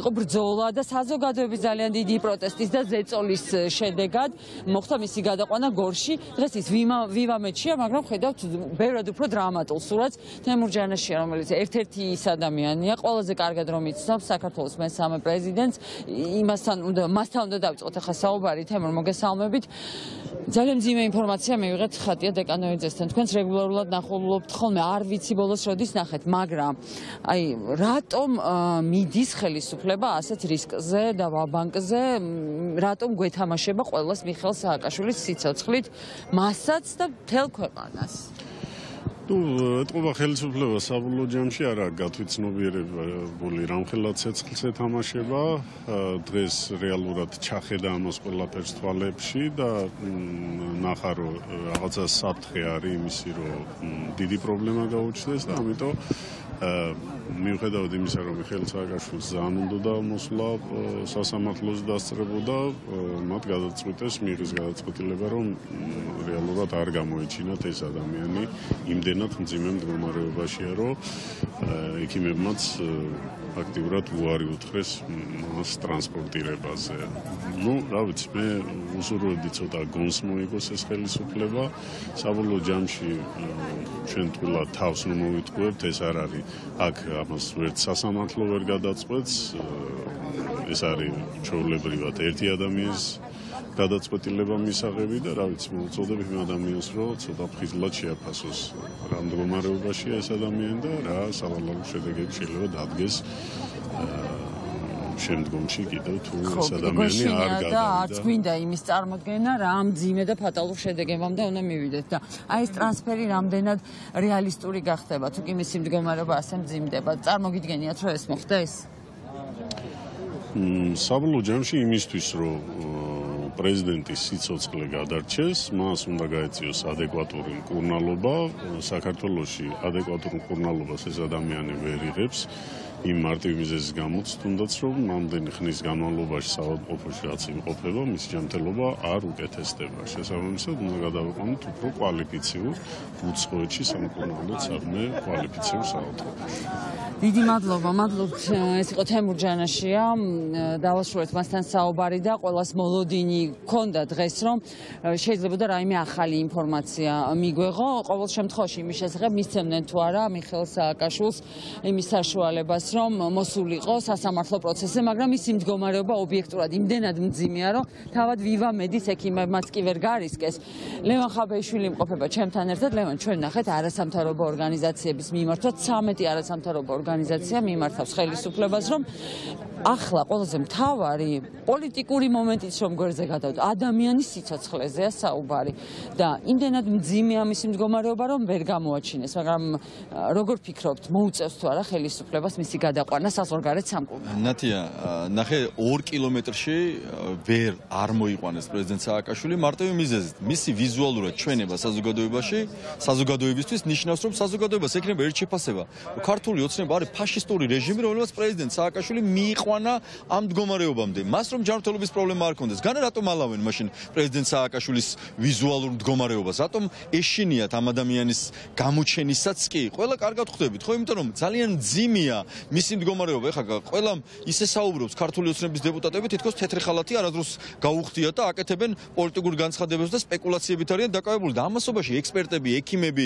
იყო ბრძოლა და საზოგადოების ძალიან დიდი პროტესტის და ზეწოლის შედეგად მოხდა მისი გადაყვანა გორში. დღეს ის ვივამეთშია, მაგრამ ხედავთ ბევრად უფრო დრამატულ სურათს. თემურ ჯანაშია, რომელიც ერთ-ერთი ის ადამიანია, ყველაზე კარგად რომ იცნობს საქართველოს მესამე პრეზიდენტს, მასთან უნდა დავიწყოთ ახლა საუბარი. თემურ, მოგესალმებით. ძალიან მძიმე ინფორმაცია მივიღეთ ხატია დეკანოიძესთან. თქვენს რეგულარულად ნახულობთ ხოლმე, არ ვიცი ბოლოს როდის ნახეთ, მაგრამ აი რატომ მიდის ხელისუფლება ასეთ რისკზე და ვაბანკზე, რატომ გვეთამაშება ყველას მიხეილ სააკაშვილის სიცოცხლით, მასაც და მთელ ქვეყანას? ეთყობა ხელისუფლება საბოლოო ჯამში არა გათვითცნობიერებული რამხელა ცეცხლს ეთამაშება, დღეს რეალურად ჩახედა ამას ყველაფერს თვალებში და ნახა რომ რაღაცა საფრთხე არის იმისი, რომ დიდი პრობლემა გაუჩნდეს და ამიტომ მიუხედავად იმისა, რომ მიხეილ სააკაშვილს ძალიან უნდა მოსვლა სასამართლოს დასწრებოდა, მათ გადაწყვიტეს მიიღეს გადაწყვეტილება, რომ რეალურად არ გამოეჩინათ ეს ადამიანი იმდენად იმდენად მძიმე მდგომარეობაშია, რომ ექიმებმაც აქტიურად უარი უთხრეს მას ტრანსპორტირებაზე. რა ვიცი, მე უსურვებდი ცოტა გონს მოიგოს ეს ხელისუფლება. საბოლოო ჯამში ჩვენ თულად თავს ნუ მოვიტყუებთ, ეს არ არის აქ ამას ვერც სასამართლო ვერ გადაწყვეტს. ეს არის ჩვეულებრივად ერთი ადამიანის გადაწყვეტილება მისაღები და რა ვიცი, მოუწოდებ იმ ადამიანს, რომ ცოტა ფხიზლად შეაფასოს რა მდგომარეობაშია ეს ადამიანი და რა სავალალო შედეგები შეიძლება დადგეს შემდგომში კიდევ თუ ეს ადამიანი არ გადავიდა და არც გვინდა იმის წარმოქმნა რა მძიმე და ფატალურ შედეგებამდე უნდა მივიდეთ და აი ეს ტრანსფერი რამდენად რეალისტური გახდება თუ კი მისი მდგომარეობა ასე მძიმდება წარმოგიდგენიათ რომ ეს მოხდეს საბოლოო ჯამში იმისთვის რომ პრეზიდენტის სიცოცხლე გადარჩეს, მას უნდა გაეწიოს ადეკვატური მკურნალობა. საქართველოში ადეკვატურ მკურნალობას ეს ადამიანი ვერ იღებს. იმ მარტივ მიზეზის გამოც, თუნდაც რომ ნამდვილი ხნის განმავლობაში საავადმყოფოში რაც იმყოფება, მისი ჯანმრთელობა არ უკეთესდება. შესაბამისად, უნდა გადავიყვანოთ უფრო კვალიფიციურ უცხოეთში სამკურნალო საქმე კვალიფიციურ საავადმყოფოში. დიდი მადლობა, მადლობთ. ეს იყო თემურ ჯანაშია. დავასრულეთ მასთან საუბარი და ყველას მოლოდინი ქონდა დღეს, რომ შეიძლება და რაიმე ახალი ინფორმაცია მიგვეღო. ყოველ შემთხვევაში იმის შესახებ მისცემდნენ თუ არა მიხეილ სააკაშვილს იმის საშუალებას, რომ მოსულიყო სასამართლო პროცესზე, მაგრამ ის მდგომარეობა ობიექტურად იმდენად მძიმეა, რომ თავად ვივა მედის ექიმებმაც კი ვერ გარისკეს. ლევან ხაბეიშვილი იმყოფება ჩემთან ერთად. ლევან, ჩვენ ნახეთ არასამთავრობო ორგანიზაციების მიმართვა 13 არასამთავრობო ორგანიზაცია მიმართავს ხელისუფლებას, რომ ახლა ყველაზე მთავარი პოლიტიკური მომენტიც რომ გვერდზე გადავდო, ადამიანის სიცოცხლეზეა საუბარი და იმდენად მძიმეა მისი მდგომარეობა, რომ ვერ გამოაჩინეს, მაგრამ როგორ ფიქრობთ, მოუწევს თუ არა ხელისუფლებას მისი გადაყვანა საზღვარგარეთ სამკურნალოდ? ნათია, ნახე 2 კილომეტრში ვერ არ მოიყვანეს პრეზიდენტ სააკაშვილი მარტივი მიზეზით. მისი ვიზუალურად ჩვენება საზოგადოებაში, საზოგადოებისთვის ნიშნავს, რომ საზოგადოებას ექნება ერთ შეფასება. ქართული ოცნება არის ფაშისტური რეჟიმი, რომელსაც პრეზიდენტ სააკაშვილი მიიყვანა ამ მდგომარეობამდე. მას რომ ჯანმრთელობის პრობლემა არ ქონდეს, განა რატომ ალავენ მაშინ პრეზიდენტ სააკაშვილის ვიზუალურ მდგომარეობას? რატომ ეშინიათ ამ ადამიანის გამოჩენისაც კი? ყველა კარგად ხვდებით, ხო? იმიტომ რომ ძალიან მძიმეა მისი მდგომარეობა. ეხლა ყველამ ისე საუბრობს ქართული ოცნების დეპუტატები, თითქოს თეთრი ხალათი არადროს გაუხდიათ და აკეთებენ პოლიტიკურ განცხადებებს და სპეკულაციებით არიან დაკავებული და ამასობაში ექსპერტები, ექიმები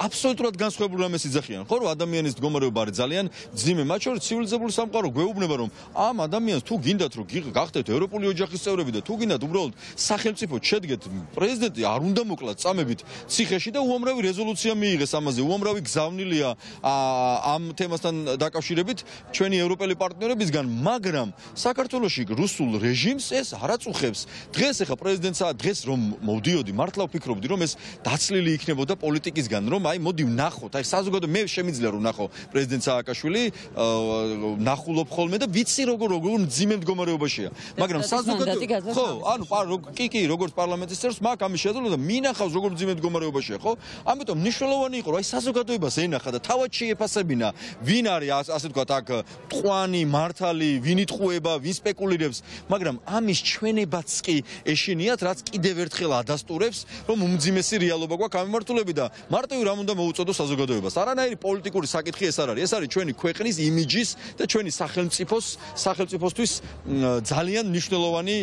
აბსოლუტურად განსხვავებულ რამეს იძახიან. ხო, რომ ადამიანის მდგომარეობა არის ძალიან მძიმე, მათ შორის ცივილიზებული სამყარო გვეუბნება, რომ ამ ადამიანს თუ გინდათ რომ გახდეთ ევროპული ოჯახის წევრები და თუ გინდათ უბრალოდ სახელმწიფო შედგეთ, პრეზიდენტი არ უნდა მოკლათ წამებით ციხეში და უამრავი რეზოლუცია მიიღეს ამაზე, უამრავი გზავნილია ამ თემასთან დაკავშირებით ჩვენი ევროპელი პარტნიორებისგან, მაგრამ საქართველოში რუსულ რეჟიმს ეს არ აწუხებს. დღეს ახლა პრეზიდენტსა დღეს რომ მოვდიოდი, მართლა ვფიქრობდი რომ ეს დაცლილი იქნებოდა პოლიტიკისგან, რომ აი მოდი ვნახოთ, აი საზოგადო მე შემიძლია რომ ვნახო პრეზიდენტ სააკაშვილი ნახულობ ხოლმე და ვიცი როგორ მძიმე მდგომარეობაშია. მაგრამ საზოგადო ხო, ანუ კი, როგორც პარლამენტის წევრს მაქვს ამის შეძლება და მინახავს როგორ მძიმე მდგომარეობაშია, ხო? ამიტომ მნიშვნელოვანი იყო, რომ აი საზოგადოებას ენახა და თავად შეეფასებინა, ვინ არის ასე ვთქვათ აქ ტყვანი, მართალი, ვინ იტყუება, ვინ სპეკულირებს, მაგრამ ამის ჩვენებაც კი ეშინიათ, რაც კიდევ ერთხელ ადასტურებს, რომ უმძიმესი რეალობა გვაქვს ამ მიმართულებით და მარტივი რამ უნდა მოუწოდოს საზოგადოებას. არანაირი პოლიტიკური საკითხი ეს არ არის. ეს არის ჩვენი ქვეყნის იმიჯის და ჩვენი სახელმწიფოსთვის ძალიან მნიშვნელოვანი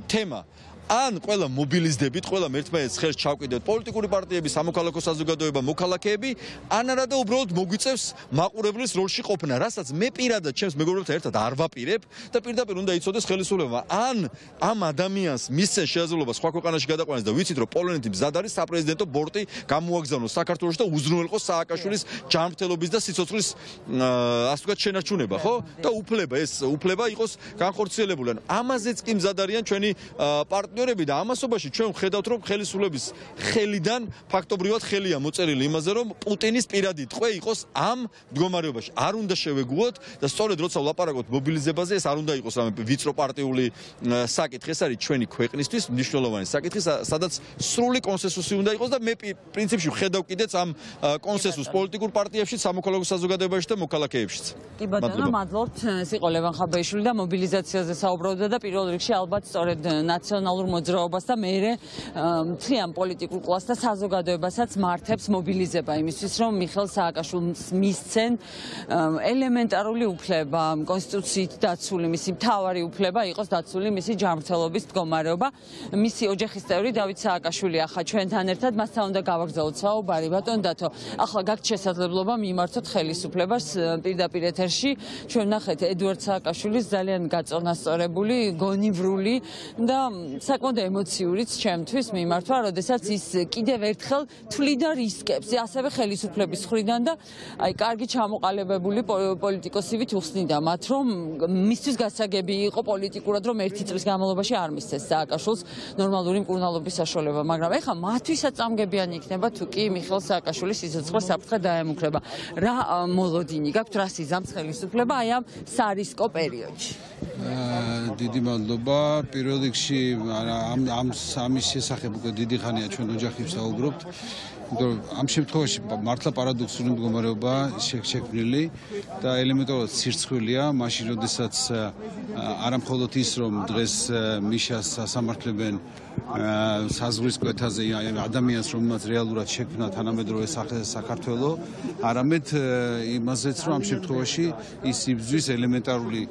თემა. ან ყველა მობილიზდებით, ყველა ერთმანეთს ხელს ჩავკიდეთ, პოლიტიკური პარტიები, სამოქალაქო საზოგადოება, მოქალაქეები, ან არა და უბრალოდ მოგვიწევს მაყურებლის როლში ყოფნა, რასაც მე პირადად ჩემს მეგობრებთან ერთად არ ვაპირებ და პირდაპირ უნდა იცოდეს ხელისუფლება. ან ამ ადამიანს მისცენ შესაძლებლობა სხვა ქვეყანაში გადაყვანას და ვიცით რომ პოლონეთი მზად არის საპრეზიდენტო ბორტი გამოაგზავნოს საქართველოში და უზრუნველყოს სააკაშვილის ჯანმრთელობის და სიცოცხლის ასე ვთქვათ შენარჩუნება, ხო? და უფლება იყოს განხორციელებული. ამაზეც კი მზად არიან ჩვენი პარტნიორები და ამასობაში ჩვენ ვხედავთ რომ ხელისუფლების ხელიდან ფაქტობრივად ხელია მოწერილი იმაზე რომ პუტინის პირადი ტყვე იყოს ამ მდგომარეობაში. არ უნდა შევეგუოთ და სწორედ როცა ვლაპარაკობთ მობილიზებაზე ეს არ უნდა იყოს რამე ვიწრო პარტიული საკითხი, ეს არის ჩვენი ქვეყნისთვის მნიშვნელოვანი საკითხი, სადაც სრული კონსენსუსი უნდა იყოს და მე პრინციპში ვხედავ კიდეც ამ კონსენსუსს პოლიტიკურ პარტიებში, სამოქალაქო საზოგადოებაში და მოქალაქეებშიც. კი ბატონო, მადლობთ. ეს იყო ლევან ხაბეიშვილი და მობილიზაციაზე საუბრობდა და პირველ რიგში ალბათ სწორედ ნაციონალურ სოციალურ მოძრაობას და მეერე მთლიან პოლიტიკურ კლასს და საზოგადოებასაც მართებს მობილიზება იმისთვის, რომ მიხეილ სააკაშვილს მისცენ ელემენტარული უფლება, კონსტიტუციით დაცული მისი მთავარი უფლება იყოს დაცული მისი ჯანმრთელობის მდგომარეობა. მისი ოჯახის წევრი დავით სააკაშვილი ახლა ჩვენთან ერთად, მასთან უნდა გავაგრძელოთ საუბარი. ბატონ დათო, ახლა გაქვთ შესაძლებლობა მიმართოთ ხელისუფლებას პირდაპირ ეთერში. ჩვენ ნახეთ ედუარდ სააკაშვილის ძალიან გაწონასწორებული, გონივრული და საკმაოდ ემოციურიც ჩემთვის მიმართვა, როდესაც ის კიდევ ერთხელ თვლიდა რისკებს, ასევე ხელისუფლების მხრიდან და აი კარგი ჩამოყალიბებული პოლიტიკოსივით უხსნიდა მათ, რომ მისთვის გასაგები იყო პოლიტიკურად, რომ ერთი წლის განმავლობაში არ მისცეს სააკაშვილს ნორმალური მკურნალობის საშუალება, მაგრამ ეხლა მათთვისაც წამგებიანი იქნება თუ კი მიხეილ სააკაშვილის სიცოცხლე საფრთხე დაემუქრება. რა მოლოდინი გაქვთ, რა სიზამს ხელისუფლება აი ამ სარისკო პერიოდში? დიდი მადლობა. პირველ რიგში ამის შესახებ უკვე დიდი ხანია ჩვენ ოჯახი ვსაუბრობთ. ამ შემთხვევაში მართლა პარადოქსული მდგომარეობა შექმნილი და ელემენტარულად სირცხვილია, მაშინ როდესაც არა მხოლოდ ის, რომ დღეს მიშას ასამართლებენ საზღვრის კვეთაზე ადამიანს, რომელმაც რეალურად შექმნა თანამედროვე საქართველო, არამედ იმაზეც, რომ ამ შემთხვევაში ის იბრძვის ელემენტარული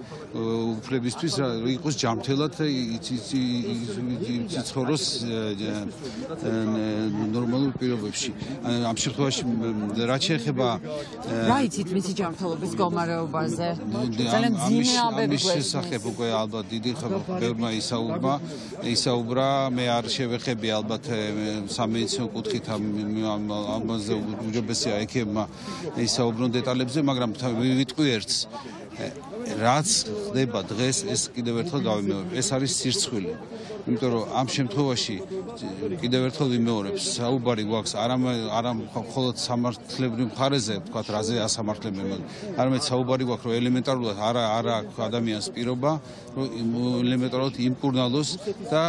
უფლებისთვის, იყოს ჯანმრთელად იცხოვროს ნორმალურ პირობებში. ამ შემთხვევაში რაც შეეხება რა იცით მისი ჯანმრთელობის მდგომარეობაზე? ძალიან ძიმე ამბები გვესმის. ამის შესახებ უკვე ალბათ დიდი ბევრმა ისაუბრა, მე არ შევეხები ალბათ სამედიცინო კუთხით ამაზე უჯობესია ექებმა ისაუბრონ დეტალებზე, მაგრამ ვიტყვი ერთს, რაც ხდება დღეს, ეს კიდევ ერთხელ გავიმეორებ, ეს არის სირცხვილი. იმიტომ რომ ამ შემთხვევაში კიდევ ერთხელ ვიმეორებ, საუბარი გვაქვს არა მხოლოდ სამართლებრივ მხარეზე, თქვათ, რაზე ასამართლებენ, არამედ საუბარი გვაქვს, რომ ელემენტარულად არა აქვს ადამიანს პირობა, რომ ელემენტარულად იმკურნალოს და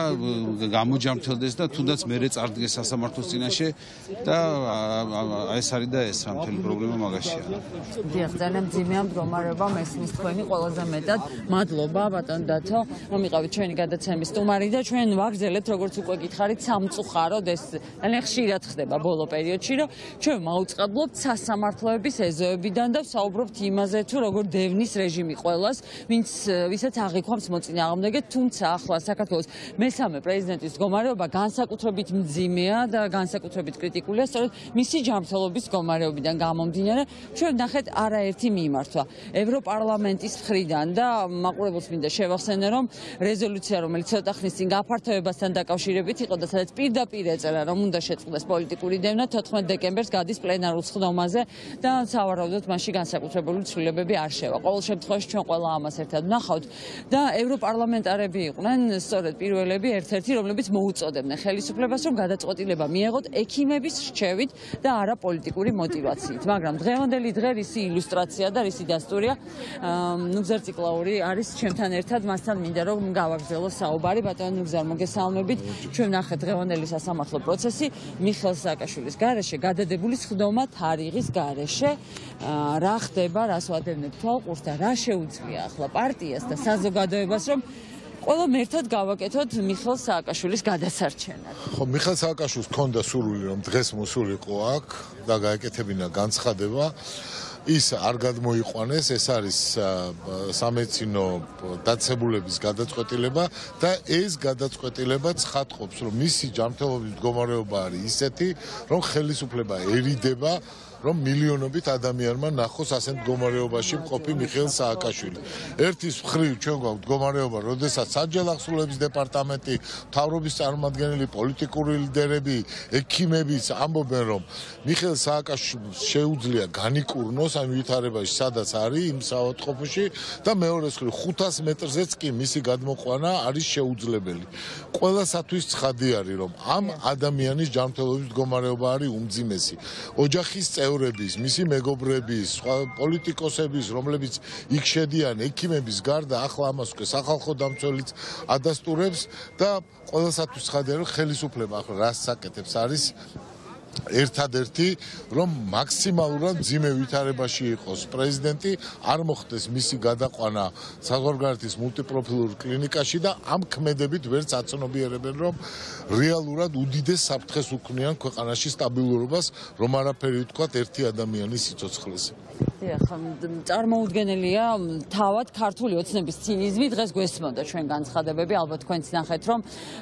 გამოჯანმრთელდეს და თუნდაც მერე წარდგეს სასამართლოს წინაშე და ეს არის და ეს მთელი პრობლემა მაგაშია. დიახ, ძალიან ძიმეა მდგომარეობა მესმის თქვენი ყველაზე მეტად. მადლობა ბატონ დათო, რომ იყავით ჩვენი გადაცემის სტუმარი და ჩვენ ვაგრძელებთ, როგორც უკვე გითხარით, სამწუხაროდ ეს ძალიან ხშირად ხდება ბოლო პერიოდში, რომ ჩვენ მაუწყებლობთ სასამართლოების ეზოებიდან და ვსაუბრობთ იმაზე, თუ როგორ დევნის რეჟიმი ყველას, ვისაც აღიქვამს მოწინააღმდეგე, თუმცა ახლა საქართველოს მესამე პრეზიდენტის მდგომარეობა განსაკუთრებით მძიმეა და განსაკუთრებით კრიტიკულია, სწორედ მისი ჯანმრთელობის მდგომარეობიდან გამომდინარე. ჩვენ ნახეთ არაერთი მიმართვა ევროპარლამენტის მხრიდან და მაყურებელს მინდა შევახსენე, რომ რეზოლუცია, რომელიც ცოტა ხნის წინ გაფართოებასთან დაკავშირებით იყო და სადაც პირდაპირ ეწერა, რომ უნდა შეწყდეს პოლიტიკური დევნა 14 დეკემბერს გადის პლენარულ სხდომაზე და სავარაუდოდ მასში განსაკუთრებული ცვლილებები არ შევა. ყოველ შემთხვევაში ჩვენ ყველა ამას ერთად ვნახავთ და ევროპარლამენტარები იყვნენ სწორედ პირველები ერთ-ერთი, რომლებიც მოუწოდებდნენ ხელისუფლებას, რომ გადაწყვეტილება მიეღოთ ექიმების რჩევით და არა პოლიტიკური მოტივაციით. მაგრამ დღევანდელი დღე რისი ილუსტრაცია და რისი დასტურია, ნუგზარ ციკლაური არის ჩვენთან ერთად, მასთან მინდა რომ გავაგრძელოს საუბარი. ბატონ ნუგზარ, მოგესალმებით. ჩვენ ნახეთ დღევანდელი სასამართლო პროცესი მიხეილ სააკაშვილის გარეშე, გადადებული სხდომა თარიღის გარეშე. რა ხდება, რას ვადევნებთ თვალყურს და რა შეუძლია ახლა პარტიას და საზოგადოებას, რომ ყველამ ერთად გავაკეთოთ მიხეილ სააკაშვილის გადასარჩენად. ხო, მიხეილ სააკაშვილს ჰქონდა სურვილი, რომ დღეს მოსულიყო აქ და გაეკეთებინა განცხადება. ის არ გადმოიყვანეს, ეს არის სამედიცინო დაცებულების გადაწყვეტილება და ეს გადაწყვეტილება ცხადყოფს, რომ მისი ჯანმრთელობის მდგომარეობა არის ისეთი, რომ ხელისუფლება ერიდება, რომ მილიონობით ადამიანმა ნახოს ასეთ მდგომარეობაში მყოფი მიხეილ სააკაშვილი. ერთის მხრივ ჩვენ გვაქვს მდგომარეობა, როდესაც საჯარო აღსრულების დეპარტამენტი, მთავრობის წარმომადგენელი, პოლიტიკური ლიდერები, ექიმებიც ამბობენ, რომ მიხეილ სააკაშვილს შეუძლია განიკურნოს ამ ვითარებაში, სადაც არის იმ საავადმყოფოში და მეორეს მხრივ 500 მეტრზეც კი მისი გადმოყვანა არის შეუძლებელი. ყველასათვის ცხადი არის, რომ ამ ადამიანის ჯანმრთელობის მდგომარეობა არის უმძიმესი. ოჯახის წევრების, მისი მეგობრების, სხვა პოლიტიკოსების, რომლებიც იქ შედიან, ექიმების გარდა, ახლა ამას უკვე სახალხო დამცველიც ადასტურებს და ყველასათვის ცხადია, რომ ხელისუფლება ახლა რას საკეთებს არის ერთადერთი რომ მაქსიმალურად მძიმე ვითარებაში იყოს პრეზიდენტი, არ მოხდეს მისი გადაყვანა საზღვარგარეთის მულტიპროფილურ კლინიკაში და ამ ქმედებით ვერც აცნობიერებენ რომ რეალურად უდიდეს საფრთხეს უქმნიან ქვეყანაში სტაბილურობას, რომ არაფერი ვთქვათ ერთი ადამიანის სიცოცხლეზე. წარმოუდგენელია თავად ქართული ოცნების ცინიზმი დღეს გვესმოდა ჩვენ განცხადებები, ალბათ თქვენც ნახეთ რომ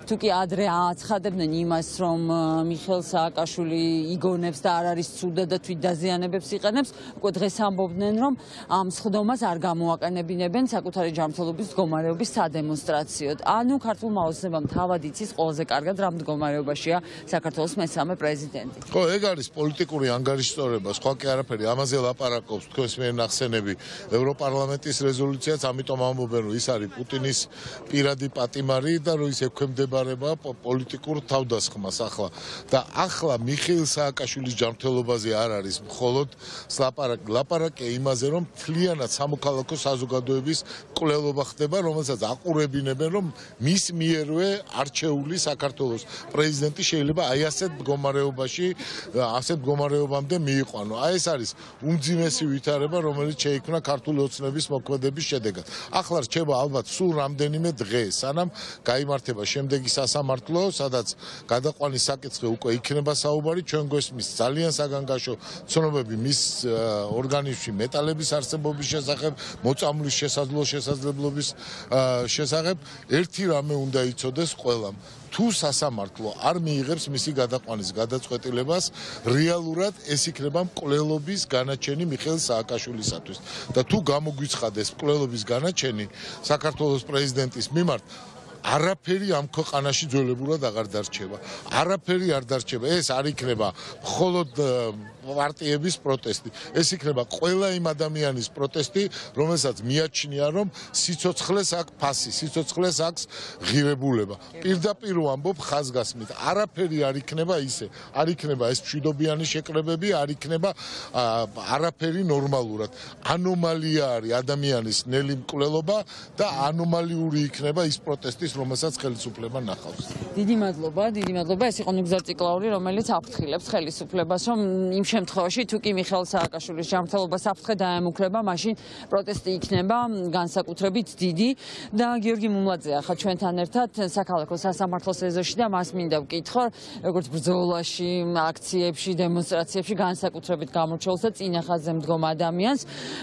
თუ კი ადრე აცხადებდნენ იმას რომ მიხეილ სააკაშვილი იგონებს და არ არის ცუდა და თვით დაზიანებებს იყენებს, უკვე დღეს ამბობდნენ რომ ამ სხდომას არ გამოაყენებინებენ საკუთარი ჯანმრთელობის მდგომარეობის სადემონსტრაციოდ. ანუ ქართულმა ოცნებამ თავად იცის ყველაზე კარგად რა მდგომარეობაშია საქართველოს მესამე პრეზიდენტი. ხო, ეგ არის პოლიტიკური ანგარიშტორება, სხვა კი არაფერი, ამაზე ლაპარაკობს თქვენს მიერ ნახსენები ევროპარლამენტის რეზოლუციაც, ამიტომ ამბობენ რომ ის არის პუტინის პირადი პატიმარი და რომ ის ექვემდებარება პოლიტიკურ თავდასხმას ახლა. და ახლა მიხეილ სააკაშვილის ჯანმრთელობაზე არ არის მხოლოდ ლაპარაკი იმაზე რომ მთლიანად სამოქალაქო საზოგადოების კვლელობა ხდება, რომელსაც აყურებინებენ რომ მის მიერვე არჩეული საქართველოს პრეზიდენტი შეიძლება აი ასეთ მდგომარეობამდე მიიყვანო. აი ეს არის უმძიმესი ვითარება, რომელიც შეიქმნა ქართული ოცნების მოქმედების შედეგად. ახლა რჩება ალბათ სულ რამდენიმე დღე, სანამ გაიმართება შემდეგი სასამართლო, სადაც გადაყვანის საკითხი უკვე იქნება საუბარი, ჩვენ გვესმის ძალიან საგანგაშო ცნობები მის ორგანიზმში მეტალების არსებობის შესახებ, მოწამვლის შესაძლებლობის შესახებ. ერთი რამე უნდა იცოდეს ყველამ. თუ სასამართლო არ მიიღებს მისი გადაყვანის გადაწყვეტილებას, რეალურად ეს იქნება მკვლელობის განაჩენი მიხეილ სააკაშვილისათვის. და თუ გამოგვიცხადეს მკვლელობის განაჩენი საქართველოს პრეზიდენტის მიმართ, არაფერი ამ ქვეყანაში ძველებურად აღარ დარჩება. არაფერი არ დარჩება. ეს არ იქნება მხოლოდ პარტიების პროტესტი. ეს იქნება ყველა იმ ადამიანის პროტესტი, რომელსაც მიაჩნია, რომ სიცოცხლეს აქვს ფასი, სიცოცხლეს აქვს ღირებულება. პირდაპირ ვამბობ ხაზგასმით, არაფერი არ იქნება ისე. არ იქნება ეს მშვიდობიანი შეკრებები, არ იქნება არაფერი ნორმალურად. ანომალია არის ადამიანის ნელი მკვლელობა და ანომალიური იქნება ის პროტესტი, რომელსაც ხელისუფლება ნახავს. დიდი მადლობა. ეს იყო ნუგზარ ციკლაური, რომელიც აფრთხილებს ხელისუფლებას, რომ იმ შემთხვევაში თუ კი მიხეილ სააკაშვილის ჯანმრთელობა საფრთხე დაემუქრება, მაშინ პროტესტი იქნება განსაკუთრებით დიდი და გიორგი მუმლაძე ახლა ჩვენთან ერთად საქალაქო სასამართლოს ეზოში და მას მინდა ვკითხო, როგორც ბრძოლაში, აქციებში, დემონსტრაციებში განსაკუთრებით გამორჩეულს და წინახაზზე მდგომ ადამიანს,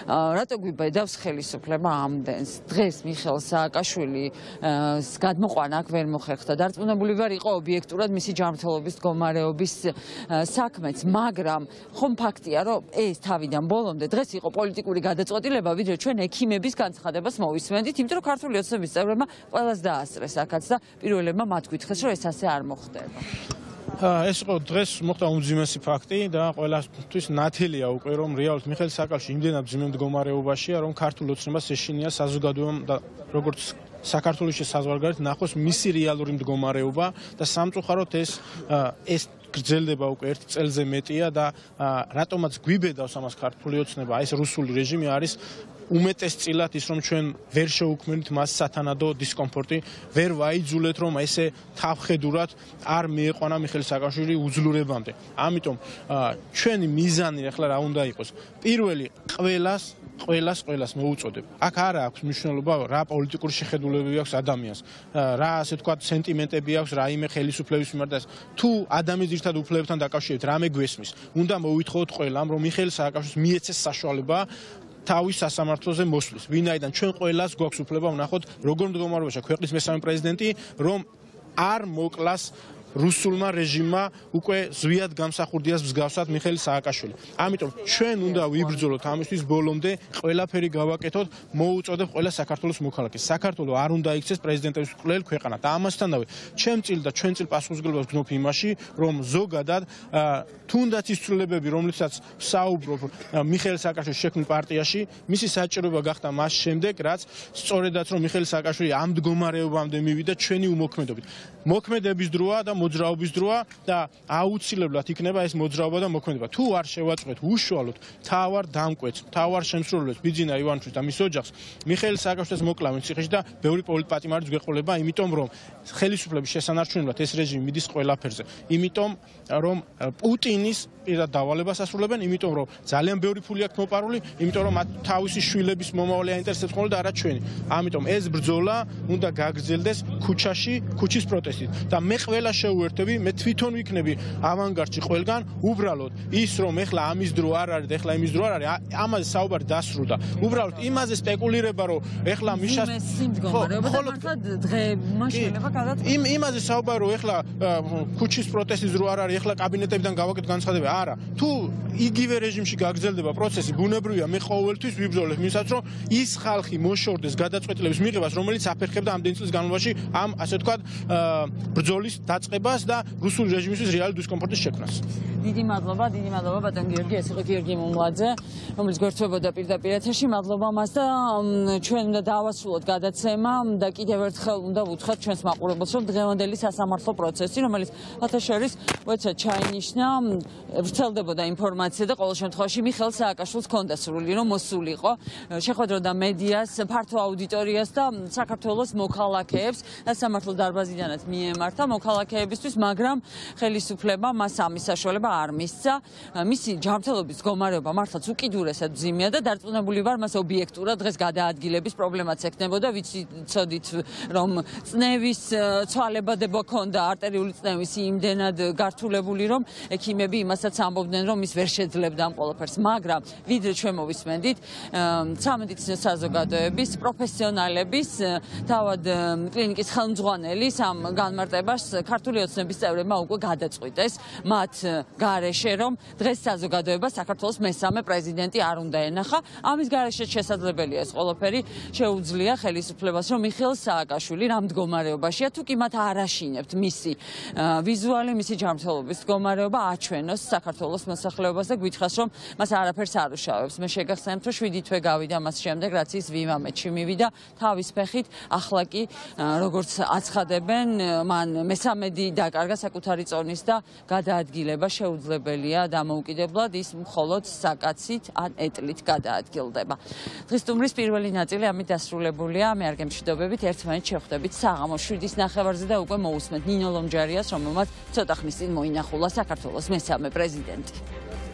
რატო გვიბედავს ხელისუფლება ამდენს? დღეს მიხეილ სააკაშვილის გადმოყვანა აქ ვერ მოხერხდა. დარწმუნებული ვარ, იყო ობიექტურად მისი ჯანმრთელობის მდგომარეობის საქმეც, მაგრამ ხომ ფაქტია, რომ ეს თავიდან ბოლომდე დღეს იყო პოლიტიკური გადაწყვეტილება, ვიდრე ჩვენ ექიმების განცხადებას მოვისმენდით, იმიტომ რომ ქართული ოცნების წევრებმა ყველას დაასწრეს აქაც და პირველებმა მათ გითხრეს, რომ ეს ასე არ მოხდება. ეს იყო დღეს მოხდა უმძიმესი ფაქტი და ყველასთვის ნათელია უკვე რომ რეალურად მიხეილ სააკაშვილი იმდენად მძიმე მდგომარეობაშია, რომ ქართულ ოცნებას ეშინია საზოგადოებამ და როგორც საქართველოში საზღვარგარეთ ნახოს მისი რეალური მდგომარეობა და სამწუხაროდ ეს გრძელდება უკვე 1 წელზე მეტია და რატომაც გვიბედავს ამას ქართული ოცნება, ეს რუსული რეჟიმი არის უმეტესწილად ის რომ ჩვენ ვერ შევუქმნით მას სათანადო დისკომფორტი, ვერ ვაიძულეთ რომ ესე თავხედურად არ მიიყვანა მიხეილ სააკაშვილი უძლურებამდე. ამიტომ ჩვენი მიზანი ახლა რა უნდა იყოს? პირველი ყველას მოუწოდებ. აქ არა აქვს მნიშვნელობა რა პოლიტიკური შეხედულებები აქვს ადამიანს, რა ასე ვთქვათ სენტიმენტები აქვს რაიმე ხელისუფლების მიმართ და თუ ადამიანის ძირითად უფლებებთან დაკავშირებით რამე გვესმის, უნდა მოვითხოვოთ ყველამ რომ მიხეილ სააკაშვილს მიეცეს საშუალება თავის სასამართლოზე მოსვლის. ვინაიდან ჩვენ ყველას გვაქვს უფლება ვნახოთ როგორ მდგომარეობაშია ქვეყნის მესამე პრეზიდენტი, რომ არ მოკლას რუსულმა რეჟიმმა უკვე ზვიად გამსახურდიას მსგავსად მიხეილ სააკაშვილი. ამიტომ ჩვენ უნდა ვიბრძოლოთ ამისთვის ბოლომდე, ყველაფერი გავაკეთოთ, მოუწოდებ ყველა საქართველოს მოქალაქეს. საქართველო არ უნდა იქცეს პრეზიდენტების მკვლელ ქვეყანა და ამასთანავე ჩვენ წილ პასუხისმგებლობას გნობ იმაში, რომ ზოგადად თუნდაც ის ცვლილებები, რომლითაც საუბრობ მიხეილ სააკაშვილის შექმნილ პარტიაში, მისი საჭიროება გახდა მას შემდეგ, რაც სწორედაც რომ მიხეილ სააკაშვილი ამ მდგომარეობამდე მივიდა ჩვენი უმოქმედობით. მოქმედების დროა და მოძრაობის დროა და აუცილებლად იქნება ეს მოძრაობა და მოქმედება. თუ არ შევაწყვეთ უშუალოდ თავარ დამკვეთს, თავარ შემსრულებს ბიძინა ივანიშვილს და მის ოჯახს მიხეილ სააკაშვილის მოკლავენ ციხეში და ბევრი პოლიტპატიმარიც გვეყოლება, იმიტომ რომ ხელისუფლების შესანარჩუნებლად ეს რეჟიმი მიდის ყველაფერზე. იმიტომ რომ პუტინის პირად დავალებას ასრულებენ, იმიტომ რომ ძალიან ბევრი ფული აქვს მოპარული, იმიტომ რომ მათ თავისი შვილების მომავალი აინტერესებს ხოლმე და არა ჩვენი. ამიტომ ეს ბრძოლა უნდა გაგრძელდეს ქუჩაში, ქუჩის პროტესტით და მე ყველა შეუერთები, მე თვითონ ვიქნები ავანგარდში ყველგან, უბრალოდ ის რომ ეხლა ამის დრო არ არის და ეხლა იმის დრო არ არის, ამაზე საუბარი დასრულდა. უბრალოდ იმაზე სპეკულირება, რომ ეხლა მიშას იმაზე საუბარი, რომ ეხლა ქუჩის პროტესტის დრო არ არის, ეხლა კაბინეტებიდან გავაკეთეთ განცხადება. არა, თუ იგივე რეჟიმში გაგრძელდება პროცესი, ბუნებრივია, მე ყოველთვის ვიბრძოლებ იმისათვის, რომ ის ხალხი მოშორდეს გადაწყვეტილების მიღებას, რომელიც აფერხებდა ამდენი წლის განმავლობაში ამ, ასე ვთქვათ, ბრძოლის დაწყებას და რუსული რეჟიმისთვის რეალი დისკომფორტის შექმნას. დიდი მადლობა ბატონ გიორგი, ეს იყო გიორგი მომლაძე, რომელიც გვერდთვებოდა პირდაპირ ეთერში. მადლობა მას და ჩვენ უნდა დავასრულოთ გადაცემა და კიდევ ერთხელ უნდა ვუთხრათ ჩვენს მაყურებელს, რომ დღევანდელი სასამართლო პროცესი, რომელიც ათაშორის უეცრად ჩაინიშნა, ვრცელდებოდა ინფორმაცია და ყოველ შემთხვევაში მიხეილ სააკაშვილს ჰქონდა სურვილი, რომ მოსულიყო, შეხვედროდა მედიას, ფართო აუდიტორიას და საქართველოს მოქალაქეებს სასამართლო დარბაზიდანაც მიემართა მოქალაქეებისთვის, მაგრამ ხელისუფლება მას ამის საშუალება არ მისცა. მისი ჯანმრთელობის მდგომარეობა მართლაც უკიდურესად მძიმეა და დარწმუნებული ვარ, მას ობიექტურად დღეს გადაადგილების პრობლემაც ექნებოდა. ვიცოდით, რომ წნევის ცვალებადება ჰქონდა, არტერიული წნევის იმდენად გართულებული, რომ ექიმები იმასაც ამბობდნენ, რომ ის ვერ შეძლებდა ამ ყველაფერს, მაგრამ ვიდრე ჩვენ მოვისმენდით სამედიცინო საზოგადოების პროფესიონალების, თავად კლინიკის ხელმძღვანელის ამ განმარტებას ქართული ოცნების წევრებმა უკვე გადაწყვიტეს მათ გარეშე, რომ დღეს საზოგადოება საქართველოს მესამე პრეზიდენტი არ უნდა ენახა. ამის გარეშე შესაძლებელია ეს ყველაფერი, შეუძლია ხელისუფლებას, რომ მიხეილ სააკაშვილი რა მდგომარეობაშია, თუ კი მათ არ აშინებთ მისი ვიზუალი, მისი ჯანმრთელობის მდგომარეობა აჩვენოს საქართველოს მოსახლეობას და გვითხრას, რომ მას არაფერს არ უშავებს. მე შეგახსენებთ, რომ 7 თვე გავიდა მას შემდეგ, რაც ის ვიმამეთში მივიდა თავის ფეხით, ახლა კი როგორც აცხადებენ, მან მესამედი დაკარგა საკუთარი წონის და გადაადგილება შეუძლებელია დამოუკიდებლად, ის მხოლოდ საკაცით ან ეტლით გადაადგილდება. დღის სტუმრის პირველი ნაწილი ამით დასრულებულია. მე არ გემშვიდობებით, ერთმანეთს შევხვდებით საღამოს 7:30 და უკვე მოусმენთ ნინო ლომჯარიას, რომელმაც ცოტა ხნის წინ მოინახულა საქართველოს მესამე პრეზიდენტი.